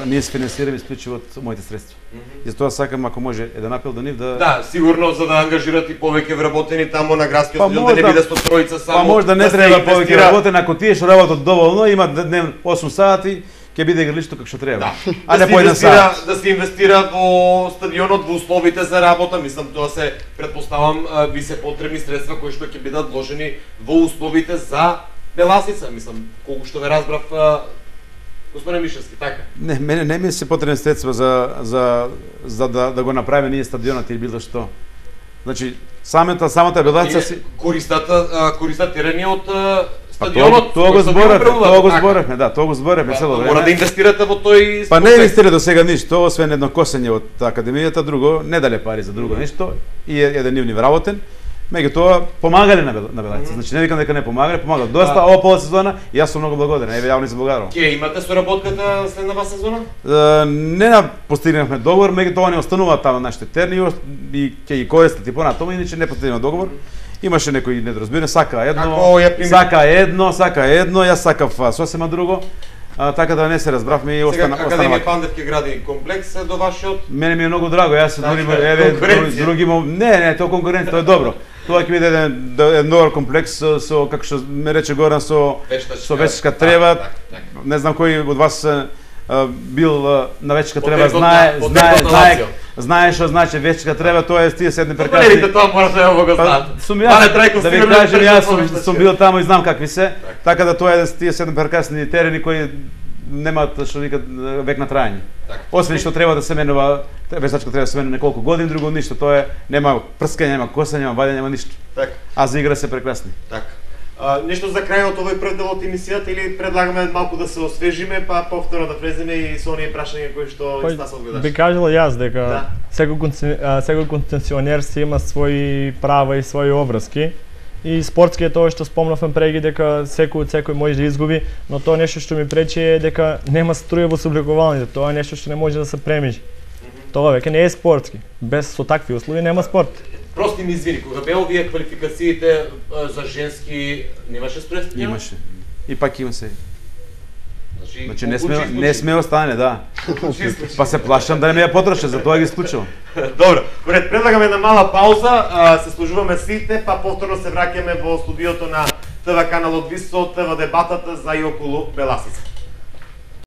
ние се финансираме исклучиво од моите средства. И затоа сакам, ако може, еден апел до нив да... Да, сигурно за да ангажират и повеќе вработени таму на градскиот стадион, да не биде со тројца само. Па може да не треба повеќе вработени, ако тие што работат доволно, имат дневно 8 сати, ќе биде игралишто како што треба. А не по еден сат. Да се инвестира во стадионот, во условите за работа, мислам тоа се претпоставам би се потребни средства кои што ќе бидат вложени во условите за Беласица, мислам, колку што ве разбрав, господин Мишевски, така? Не, мене не ми се потребни средства за да го направиме ние стадионот или било што. Значи, самата Беласица си... Користат терени од стадионот. Тоа го зборевме, цело време. Мора да инвестирате во тој... Па не инвестира до сега ништо, освен едно косење од Академијата, друго, не дале пари за друго ништо, и еден нивни вработен. Меѓутоа помагале на Беласица. Значи не викам дека не помагале, помагале доста ова полусезона и јас сум многу благодарен. Еве јавно изблагарувам. Ќе имате соработката следнава сезона? Не постигнавме договор, меѓутоа не остануваат таму нашите терни и ќе ги користат и понатаму, иначе не постигнавме договор. Имаше некои недоразбирање, сака едно, јас сакав сосема друго. Така да не се разбравме и остана. Сега Академија Пандев ќе гради комплекс до вашиот. Мене ми е многу драго, јас се други не, тоа конкуренција, тоа е добро. Тоа ќе биде еден добар комплекс со како што ме рече Горан со вештачка трева, не знам кој од вас бил на вечерка треба, знае што значи вечерка треба, тоа е тие седни прекасни. Верите, тоа мора да го знаат. Сум јас, да ви кажам, јас сум бил таму и знам какви се, така да тоа е тие седни прекасни терени кои немаат што викат век на трајање. Освен што треба да се менува, весачка треба да се менува неколку години, друго ништо, тоа е нема прскање, нема косење, нема вадење, нема ништо. Така. А за игра се прекрасни. Така. Нешто за крајот овој прв дел од емисијата или предлагаме малку да се освежиме, па повторно да влеземе и со оние прашања кои што Стасов гледаш. Би кажал јас дека секој концесионер си има своји права и своји обврски. И спортски е тоа што спомнавме преги дека секој може да изгуби, но тоа нешто што ми пречи е дека нема струја во собликувањето, тоа е нешто што не може да се премиже. Тоа веќе не е спортски. Без со такви услови нема спорт. Прости ми извини, кога беа овие квалификациите за женски немаше струја? Имаше. И пак има се. Значи не сме остане, да. Па се плашам да не ме ја потроши, затоа ги исклучувам. Добро, предлагаме една мала пауза, се служуваме сите, па повторно се враќаме во студиото на ТВ каналот ВИС со ТВ дебатата за и околу Беласица.